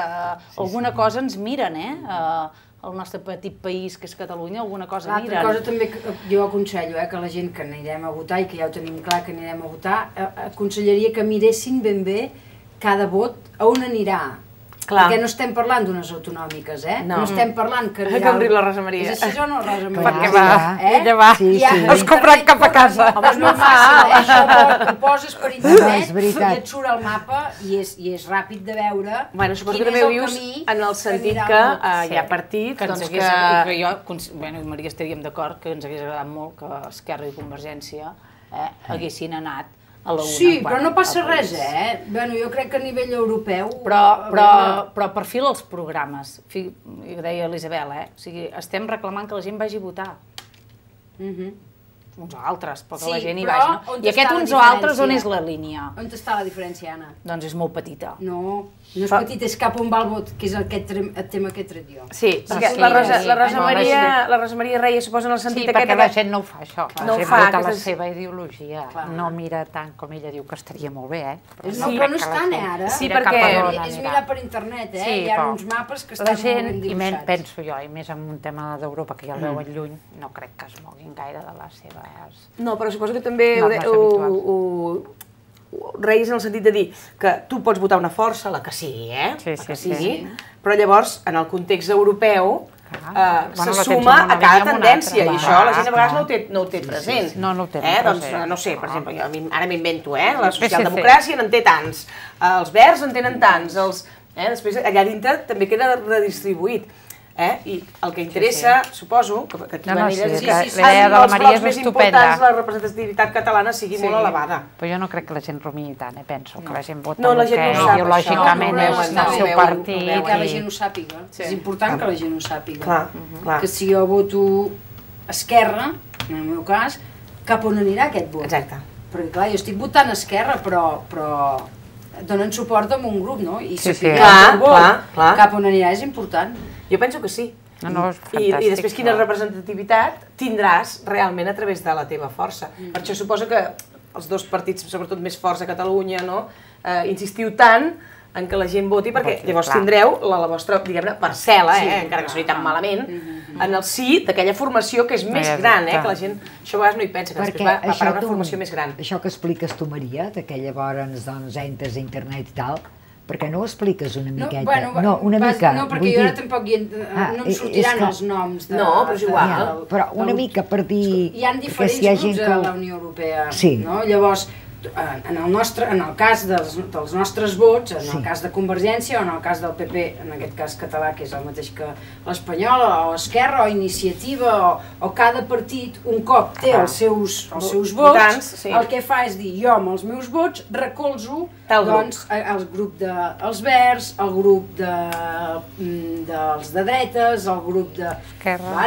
alguna cosa ens miren, el nostre petit país, que és Catalunya, alguna cosa miren. L'altra cosa també que jo aconsello, que la gent que anirem a votar, i que ja ho tenim clar que anirem a votar, aconsellaria que miressin ben bé cada vot a on anirà. Perquè no estem parlant d'unes autonòmiques, no estem parlant que... Que obrir la Rosa Maria. És així o no, Rosa Maria? Perquè ella va, has comprat cap a casa. Home, és molt fàcil, això ho poses per internet i et surt el mapa i és ràpid de veure quin és el camí que anirà el vot. En el sentit que hi ha partits, doncs que... Jo, Maria, estaríem d'acord que ens hagués agradat molt que Esquerra i Convergència haguessin anat a la una. Sí, però no passa res, jo crec que a nivell europeu... Però per fil els programes, ho deia l'Isabel, o sigui, estem reclamant que la gent vagi a votar. Uns o altres, però que la gent hi vagi, no? I aquest uns o altres, on és la línia? On està la diferència, Anna? Doncs és molt petita. No és petita, és cap on va el vot, que és el tema que he tret jo. Sí, la Rosa Maria Reia suposa en el sentit aquest... Sí, perquè la gent no ho fa, això. No ho fa, vota la seva ideologia. No mira tant com ella diu que estaria molt bé, Però no és tant, ara. Sí, perquè... És mirar per internet, hi ha uns mapes que estan molt ben dibuixats. I menys, penso jo, i més en un tema d'Europa, que ja el veuen lluny, no crec que es moguin gaire de la seva... No, però suposo que també ho reies en el sentit de dir que tu pots votar una força, la que sigui, la que sigui, però llavors, en el context europeu, se suma a cada tendència, i això la gent a vegades no ho té present. No ho té present. Doncs, no sé, per exemple, ara m'invento, la socialdemocràcia n'en té tants, els verds en tenen tants, després allà dintre també queda redistribuït. I el que interessa, suposo, que aquí van elles, l'idea de la Maria és estupenda. La representativitat catalana sigui molt elevada. Però jo no crec que la gent rumini tant, penso que la gent vota el que ideològicament és el seu partit. Que la gent ho sàpiga, és important que la gent ho sàpiga. Clar. Que si jo voto Esquerra, en el meu cas, cap on anirà aquest vot? Exacte. Perquè clar, jo estic votant Esquerra, però donen suport a un grup, no? I si cap on anirà és important. Jo penso que sí. I després quina representativitat tindràs realment a través de la teva força. Per això suposo que els dos partits, sobretot més forts a Catalunya, insistiu tant en que la gent voti, perquè llavors tindreu la vostra, diguem-ne, parcel·la, encara que soni tan malament, en el sí d'aquella formació que és més gran, que la gent, això a vegades no hi pensa, que després va parar una formació més gran. Això que expliques tu, Maria, que llavors entres a internet i tal, per què no ho expliques una miqueta? No, una mica. No, perquè jo ara tampoc no em sortiran els noms. No, però és igual. Però una mica per dir... Hi ha diferents grups a la Unió Europea, no? Llavors, en el cas dels nostres vots, en el cas de Convergència o en el cas del PP, en aquest cas català, que és el mateix que l'Espanyol, o Esquerra, o Iniciativa, o cada partit, un cop té els seus vots, el que fa és dir, jo amb els meus vots recolzo el grup dels Verds, el grup dels de dretes, el grup de...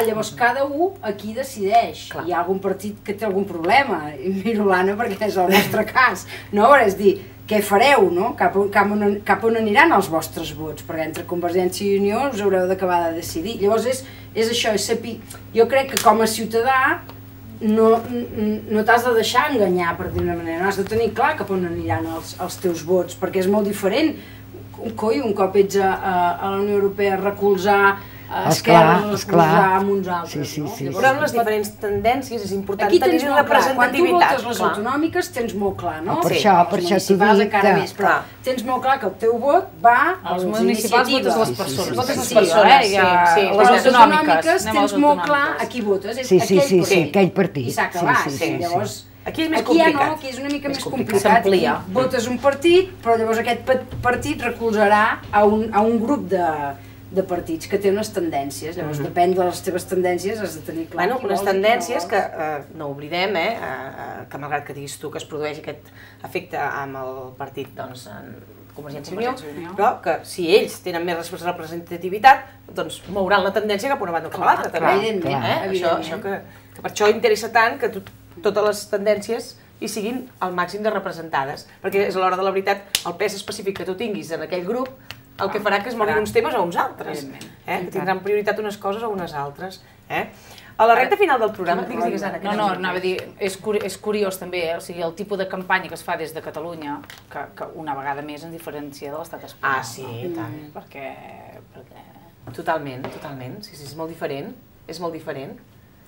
Llavors cada un aquí decideix. Hi ha algun partit que té algun problema, i miro l'Anna perquè és el nostre cas, no? És dir, què fareu, no? Cap on aniran els vostres vots, perquè entre Convergència i Unió us haureu d'acabar de decidir. Llavors és això, és saber... Jo crec que com a ciutadà no t'has de deixar enganyar, per dir-ho d'una manera, no has de tenir clar cap on aniran els teus vots, perquè és molt diferent, un cop ets a la Unió Europea, recolzar Esquerra, recolzar amb uns altres, no? Però amb les diferents tendències és important tenir representativitat. Quan tu votes les autonòmiques tens molt clar, no? Per això t'ho dic que... Tens molt clar que el teu vot va a les iniciatives. Votes les persones. Votes les persones, sí. Les autonòmiques tens molt clar a qui votes, és aquell partit. I s'ha acabat, llavors... Aquí és més complicat. Aquí és una mica més complicat. Votes un partit, però llavors aquest partit recolzarà a un grup de partits que té unes tendències, llavors depèn de les teves tendències, has de tenir clar. Bueno, unes tendències que no oblidem, que malgrat que diguis tu que es produeix aquest efecte amb el partit, doncs, Convergència i Unió, però que si ells tenen més representativitat, doncs mouran la tendència cap a una banda o cap a l'altra, també. Que per això interessa tant que totes les tendències hi siguin al màxim de representades, perquè és a l'hora de la veritat el pes específic que tu tinguis en aquell grup el que farà que es moguin uns temes o uns altres, que tindran prioritat unes coses o unes altres. A la recta final del programa, digues, Anna. No, anava a dir, és curiós també, o sigui, el tipus de campanya que es fa des de Catalunya, que una vegada més ens diferencia de l'estat espanyol. Ah, sí, i tant. Perquè... Totalment, sí, és molt diferent,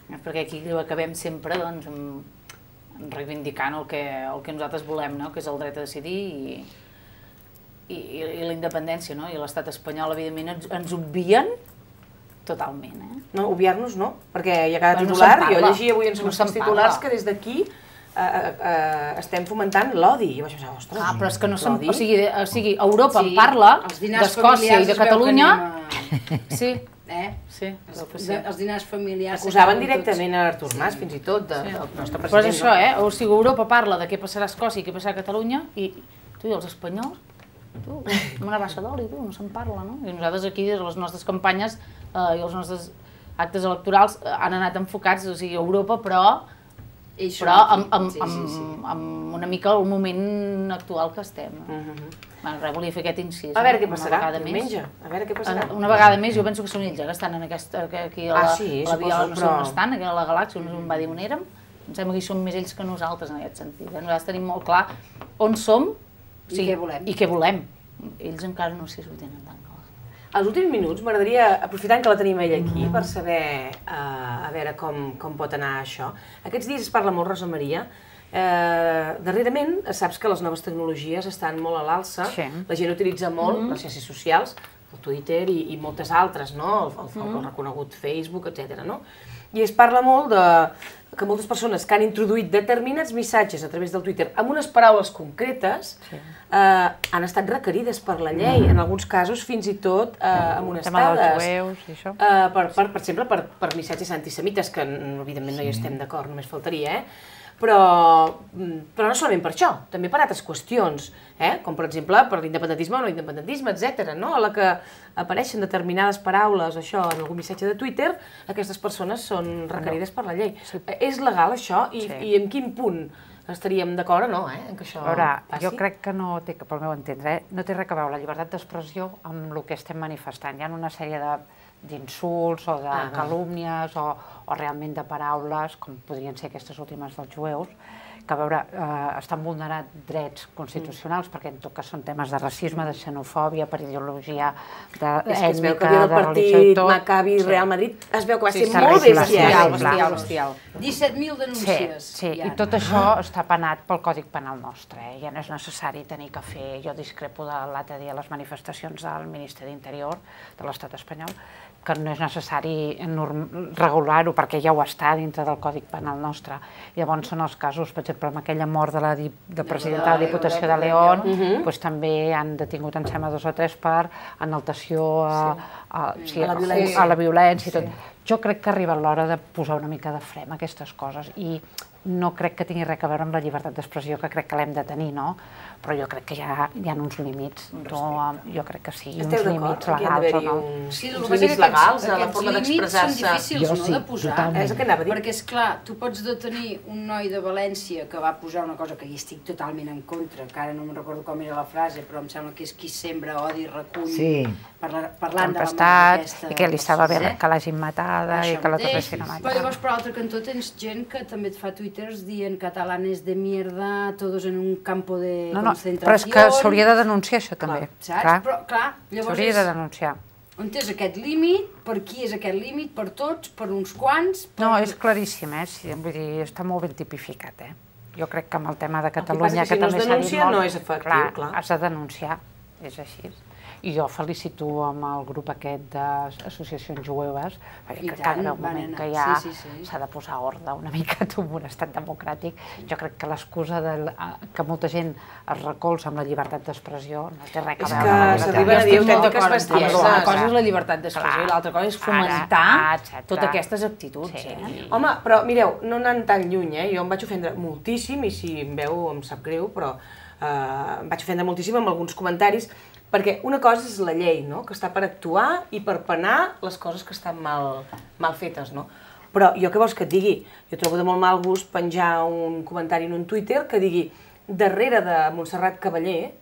Perquè aquí ho acabem sempre, doncs, reivindicant el que nosaltres volem, que és el dret a decidir i la independència, i l'estat espanyol, evidentment, ens obvien totalment. No, obviar-nos no, perquè hi ha cada titular, jo llegia avui en els titulars que des d'aquí estem fomentant l'odi. I vaig pensar, ostres, però és que no se'n... O sigui, Europa en parla d'Escòcia i de Catalunya... Sí. Els dinars familiars... Acusaven directament a Artur Mas, fins i tot, del nostre president. Però és això, o sigui, Europa parla de què passarà a Escòcia i què passarà a Catalunya, i tu i els espanyols, amb una baixa d'oli, no se'n parla, no? I nosaltres aquí, les nostres campanyes i els nostres actes electorals han anat enfocats, o sigui, a Europa, però amb una mica el moment actual que estem. Volia fer aquest incís. A veure què passarà diumenge, a veure què passarà. Una vegada més, jo penso que són ells que estan aquí a la Viola, no sé on estan, aquí a la galàxia, on va dir on érem. Em sembla que hi són més ells que nosaltres en aquest sentit. Nosaltres tenim molt clar on som i què volem. Ells encara no sé si ho tenen tan clar. Els últims minuts m'agradaria, aprofitant que la tenim ella aquí, per saber a veure com pot anar això. Aquests dies es parla molt, Rosa Maria, darrerament saps que les noves tecnologies estan molt a l'alça, la gent utilitza molt les xarxes socials, el Twitter i moltes altres, el reconegut Facebook, etc. i es parla molt que moltes persones que han introduït determinats missatges a través del Twitter amb unes paraules concretes han estat requerides per la llei, en alguns casos fins i tot amonestades. El tema dels jueus i això. Per exemple, per missatges antisemites, que evidentment no hi estem d'acord, només faltaria, però no solament per això, també per altres qüestions, com per exemple per l'independentisme o no independentisme, etc. A la que apareixen determinades paraules això en algun missatge de Twitter, aquestes persones són requerides per la llei. És legal això? I en quin punt estaríem d'acord o no, en que això passi? Jo crec que no té, pel meu entendre, no té res a veure la llibertat d'expressió amb el que estem manifestant. Hi ha una sèrie d'insults o de calúmnies o realment de paraules, com podrien ser aquestes últimes dels jueus, que a veure, estan vulnerant drets constitucionals, perquè en tot cas són temes de racisme, de xenofòbia, per ideologia ètnica, es veu que el partit Maccabi Real Madrid es veu que va ser molt bestial. 17.000 denúncies. Sí, i tot això està penat pel Codi Penal nostre, ja no és necessari tenir que fer, jo discrepo de l'altre dia les manifestacions del Ministeri d'Interior de l'Estat espanyol, que no és necessari regular-ho perquè ja ho està dintre del Codi Penal nostre. Llavors són els casos, per exemple, amb aquella mort de la presidenta de la Diputació de León, també han detingut, em sembla, 2 o 3 per enaltació a la violència i tot. Jo crec que arriba l'hora de posar una mica de fre a aquestes coses i no crec que tingui res a veure amb la llibertat d'expressió, que crec que l'hem de tenir, no? Però jo crec que hi ha uns límits. Jo crec que sí, uns límits legals o no. Sí, el que passa és que aquests límits són difícils de posar. És el que anava a dir. Perquè, esclar, tu pots detenir un noi de València que va posar una cosa que hi estic totalment en contra, que ara no me'n recordo com era la frase, però em sembla que és qui sembra odi i recull, parlant de la mort d'aquesta... I que li estava bé que l'hagin matada i que la tornessin a matar. Però llavors, per l'altre cantó, tens gent que també et fa twitters dient catalanes de mierda, todos en un campo de concentració... Però és que s'hauria de denunciar això també. Saps? Però, clar, llavors s'hauria de denunciar. On és aquest límit? Per qui és aquest límit? Per tots? Per uns quants? No, és claríssim, vull dir, està molt ben tipificat, Jo crec que amb el tema de Catalunya, que també s'ha dit molt... Si no es denuncia, no és efectiu, clar. Has de denunciar, és així. I jo felicito amb el grup aquest d'associacions jueves, perquè cada moment que hi ha s'ha de posar ordre una mica en un estat democràtic. Jo crec que l'excusa que molta gent es recolza amb la llibertat d'expressió no té res a veure amb la llibertat d'expressió. És que s'arriba a dir autèntiques bestieses. Una cosa és la llibertat d'expressió i l'altra cosa és fomentar totes aquestes actituds. Home, però mireu, no anant tan lluny, jo em vaig ofendre moltíssim, i si em veu em sap greu, però em vaig ofendre moltíssim amb alguns comentaris, perquè una cosa és la llei, que està per actuar i per penar les coses que estan mal fetes, Però jo què vols que et digui? Jo trobo de molt mal gust penjar un comentari en un Twitter que digui darrere de Montserrat Cavaller,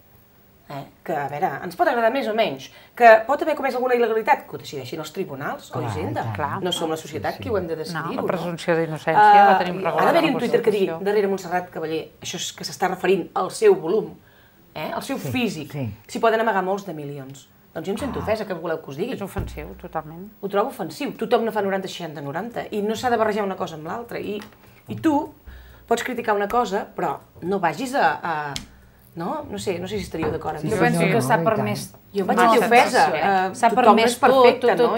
que, a veure, ens pot agradar més o menys, que pot haver comès alguna il·legalitat, que ho decideixin els tribunals o Hisenda. No som la societat qui ho hem de decidir-ho. No, la presumpció d'innocència la tenim regulada. Ha d'haver-hi un Twitter que digui darrere Montserrat Cavaller, això és que s'està referint al seu volum, el seu físic, s'hi poden amagar molts de milions. Doncs jo em sento ofesa, que voleu que us digui? És ofensiu, totalment. Ho trobo ofensiu. Tothom no fa 90, 60, 90, i no s'ha de barrejar una cosa amb l'altra. I tu pots criticar una cosa, però no vagis a... No sé si estaríeu d'acord amb mi. Jo penso que s'ha permès... Jo em vaig sentir ofesa. S'ha permès perfecte, no?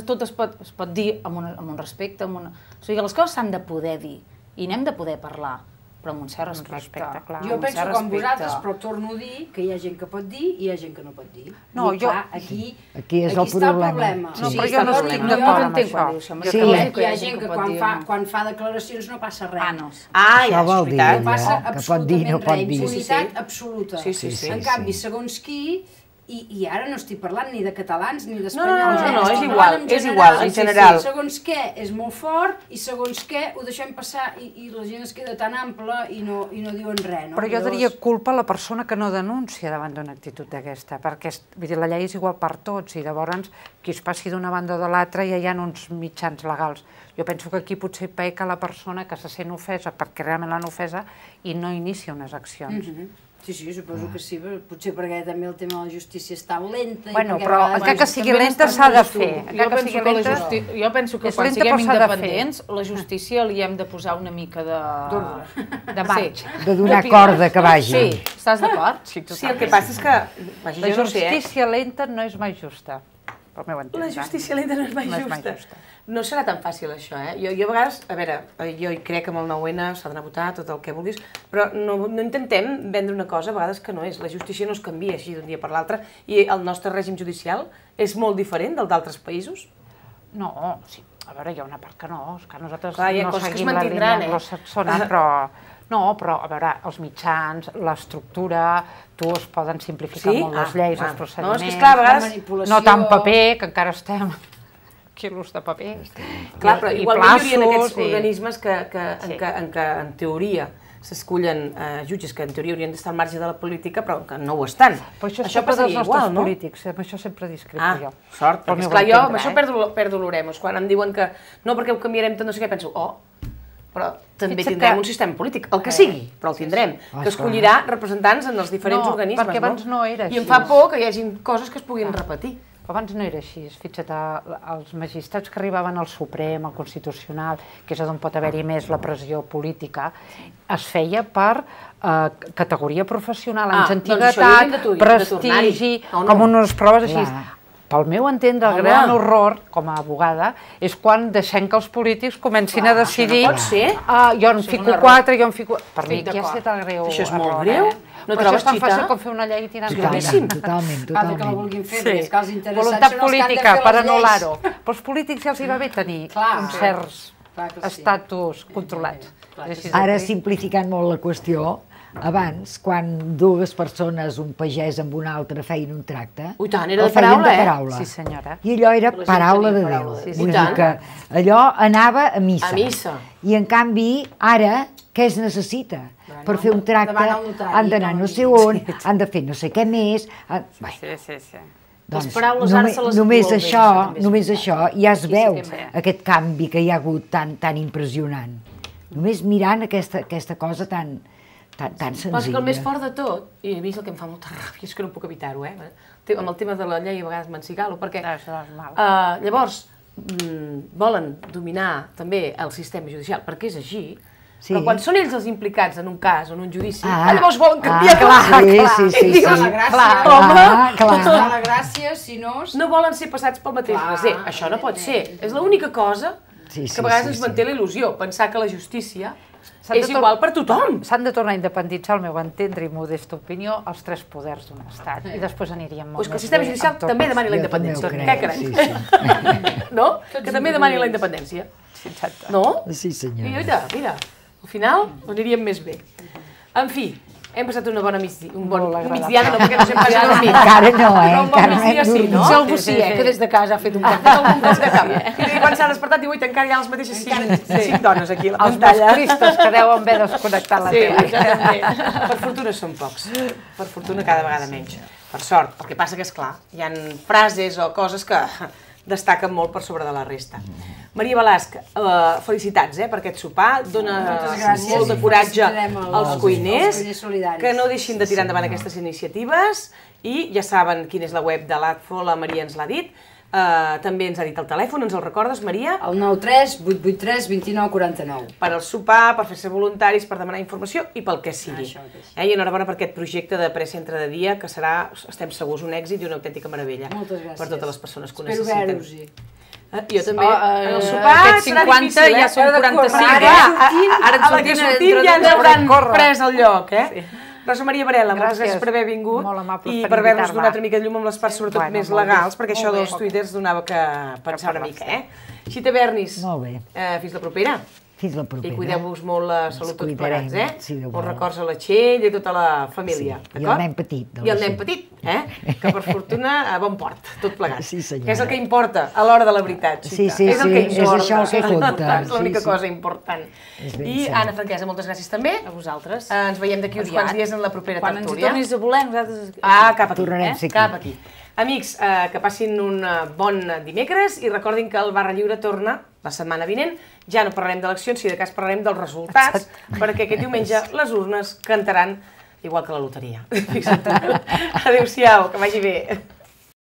Tot es pot dir amb un respecte. O sigui, les coses s'han de poder dir i n'hem de poder parlar. però amb un cert respecte. Jo penso com vosaltres, però torno a dir que hi ha gent que pot dir i hi ha gent que no pot dir. No, jo... Aquí és el problema. No, però jo no estic d'acord amb això. Hi ha gent que quan fa declaracions no passa res. Això vol dir que pot dir i no pot dir. Impunitat absoluta. En canvi, segons qui... I ara no estic parlant ni de catalans ni d'espanyols. No, és igual, en general. Segons què és molt fort i segons què ho deixem passar i la gent es queda tan ampla i no diuen res. Però jo daria culpa a la persona que no denuncia davant d'una actitud d'aquesta, perquè la llei és igual per tots i llavors qui es passi d'una banda o de l'altra ja hi ha uns mitjans legals. Jo penso que aquí potser peca la persona que se sent ofesa perquè realment l'han ofesa i no inicia unes accions. Sí, suposo que sí, potser perquè també el tema de la justícia és tan lenta... Bueno, però encara que sigui lenta s'ha de fer. Jo penso que quan siguem independents, la justícia li hem de posar una mica de marx. De donar corda que vagi. Sí, estàs d'acord? Sí, el que passa és que... La justícia lenta no és mai justa. pel meu entendre. La justícia lenta no és mai justa. No serà tan fàcil això, Jo a vegades, a veure, jo hi crec que amb el 9-N s'ha d'anar a votar, tot el que vulguis, però no intentem vendre una cosa a vegades que no és. La justícia no es canvia així d'un dia per l'altre i el nostre règim judicial és molt diferent del d'altres països? No, sí. A veure, hi ha una part que no, és que nosaltres no seguim la línia anglosaxona, però... No, però, a veure, els mitjans, l'estructura, es poden simplificar molt les lleis, els procediments... No, és que esclar, a vegades... No tant paper, que encara estem... quilos de paper. Clar, però igualment hi haurien aquests organismes en què, en teoria, s'escullen jutges que en teoria haurien d'estar al marge de la política, però que no ho estan. Però això passaria igual, no? Polítics, amb això sempre discrepo jo. Sort, perquè esclar, jo amb això perdo l'oremos. Quan em diuen que no, perquè ho canviarem tot, no sé què, penso, però també tindrem un sistema polític, el que sigui, però el tindrem, que escollirà representants en els diferents organismes, no? Perquè abans no era així. I em fa por que hi hagin coses que es puguin repetir. Abans no era així, fixa't, els magistrats que arribaven al Suprem, al Constitucional, que és on pot haver-hi més la pressió política, es feia per categoria professional, anys antiguitat, prestigi, com unes proves així. Pel meu entendre, el gran horror, com a abogada, és quan deixem que els polítics comencin a decidir... No pot ser. Jo en fico 4, jo en fico... Per mi aquí ha estat el greu error. Això és molt greu. No trobes tan fàcil com fer una llei i tirar gravíssim. Totalment. Que la vulguin fer, és que els interessats voluntat política per anul·lar-ho. Però als polítics ja els hi va bé tenir uns certs estatus controlats. Ara, simplificant molt la qüestió, abans, quan dues persones, un pagès amb un altre, feien un tracte, el feien de paraula. Sí, senyora. I allò era paraula de Déu. Vull dir que allò anava a missa. A missa. I en canvi, ara, què es necessita? Per fer un tracte han d'anar no sé on, han de fer no sé què més... Sí. Doncs només això ja es veu aquest canvi que hi ha hagut tan impressionant. Només mirant aquesta cosa tan senzilla. Però és que el més fort de tot, i a mi és el que em fa molta ràbia, és que no puc evitar-ho, amb el tema de la llei a vegades m'encigalo, perquè llavors volen dominar també el sistema judicial, perquè és així, però quan són ells els implicats en un cas o en un judici, llavors volen canviar Sí. La gràcia, si no... No volen ser passats pel mateix raser, això no pot ser. És l'única cosa que a vegades ens manté la il·lusió, pensar que la justícia és igual per tothom. S'han de tornar a independitzar, al meu entendre i modesta opinió, els tres poders d'un estat. I després aniríem molt més bé. Que el sistema judicial també demani la independència. Què crec? No? Que també demani la independència. No? Sí, senyora. Mira, al final aniríem més bé. En fi, hem passat una bona migdiana, no perquè no s'hem passat a dormir. Encara no, un bon migdia sí, no? Potser algú sí, que des de casa ha fet un cop de camp. I quan s'ha despertat diu, encara hi ha les mateixes 5 dones aquí a la pantalla. Els masclistes que deuen haver desconnectat la tele. Sí, això també. Per fortuna són pocs. Per fortuna cada vegada menys. Per sort. El que passa que, esclar, hi ha frases o coses que destaquen molt per sobre de la resta. Maria Balasc, felicitats per aquest sopar, dona molt de coratge als cuiners, que no deixin de tirar endavant aquestes iniciatives i ja saben quina és la web de l'ADFO, la Maria ens l'ha dit, també ens ha dit el telèfon, ens el recordes, Maria? El 93 883 29 49. Per al sopar, per fer-se voluntaris, per demanar informació i pel que sigui. I enhorabona per aquest projecte de precentre de dia, que serà, estem segurs, un èxit i una autèntica meravella. Moltes gràcies. Per totes les persones que ho necessiten. Espero veure-us-hi. Jo també. En el sopar serà difícil, ja són 45. Ara a la que sortim ja ens hauran pres el lloc, Rosa Maria Varela, moltes gràcies per haver vingut i per haver-nos donat una mica de llum amb les parts sobretot més legals, perquè això dels tuiters donava que pensar una mica, Xita Bernis, fins la propera. Fins la propera. I cuideu-vos molt la salut tots plegats, Molts records a la Txell i a tota la família, d'acord? I el nen petit. I el nen petit, que per fortuna a bon port, tot plegat. Sí, senyora. Que és el que importa a l'hora de la veritat, Xita. Sí, és això el que compta. És l'única cosa important. I Anna Franquesa, moltes gràcies també. A vosaltres. Ens veiem d'aquí uns quants dies en la propera tertúlia. Quan ens hi tornis a voler, nosaltres... Cap aquí, cap aquí. Amics, que passin un bon dimecres i recordin que el Barra Lliure torna la setmana vinent. Ja no parlarem d'eleccions, si de cas parlarem dels resultats, perquè aquest diumenge les urnes cantaran igual que la loteria. Adéu-siau, que vagi bé.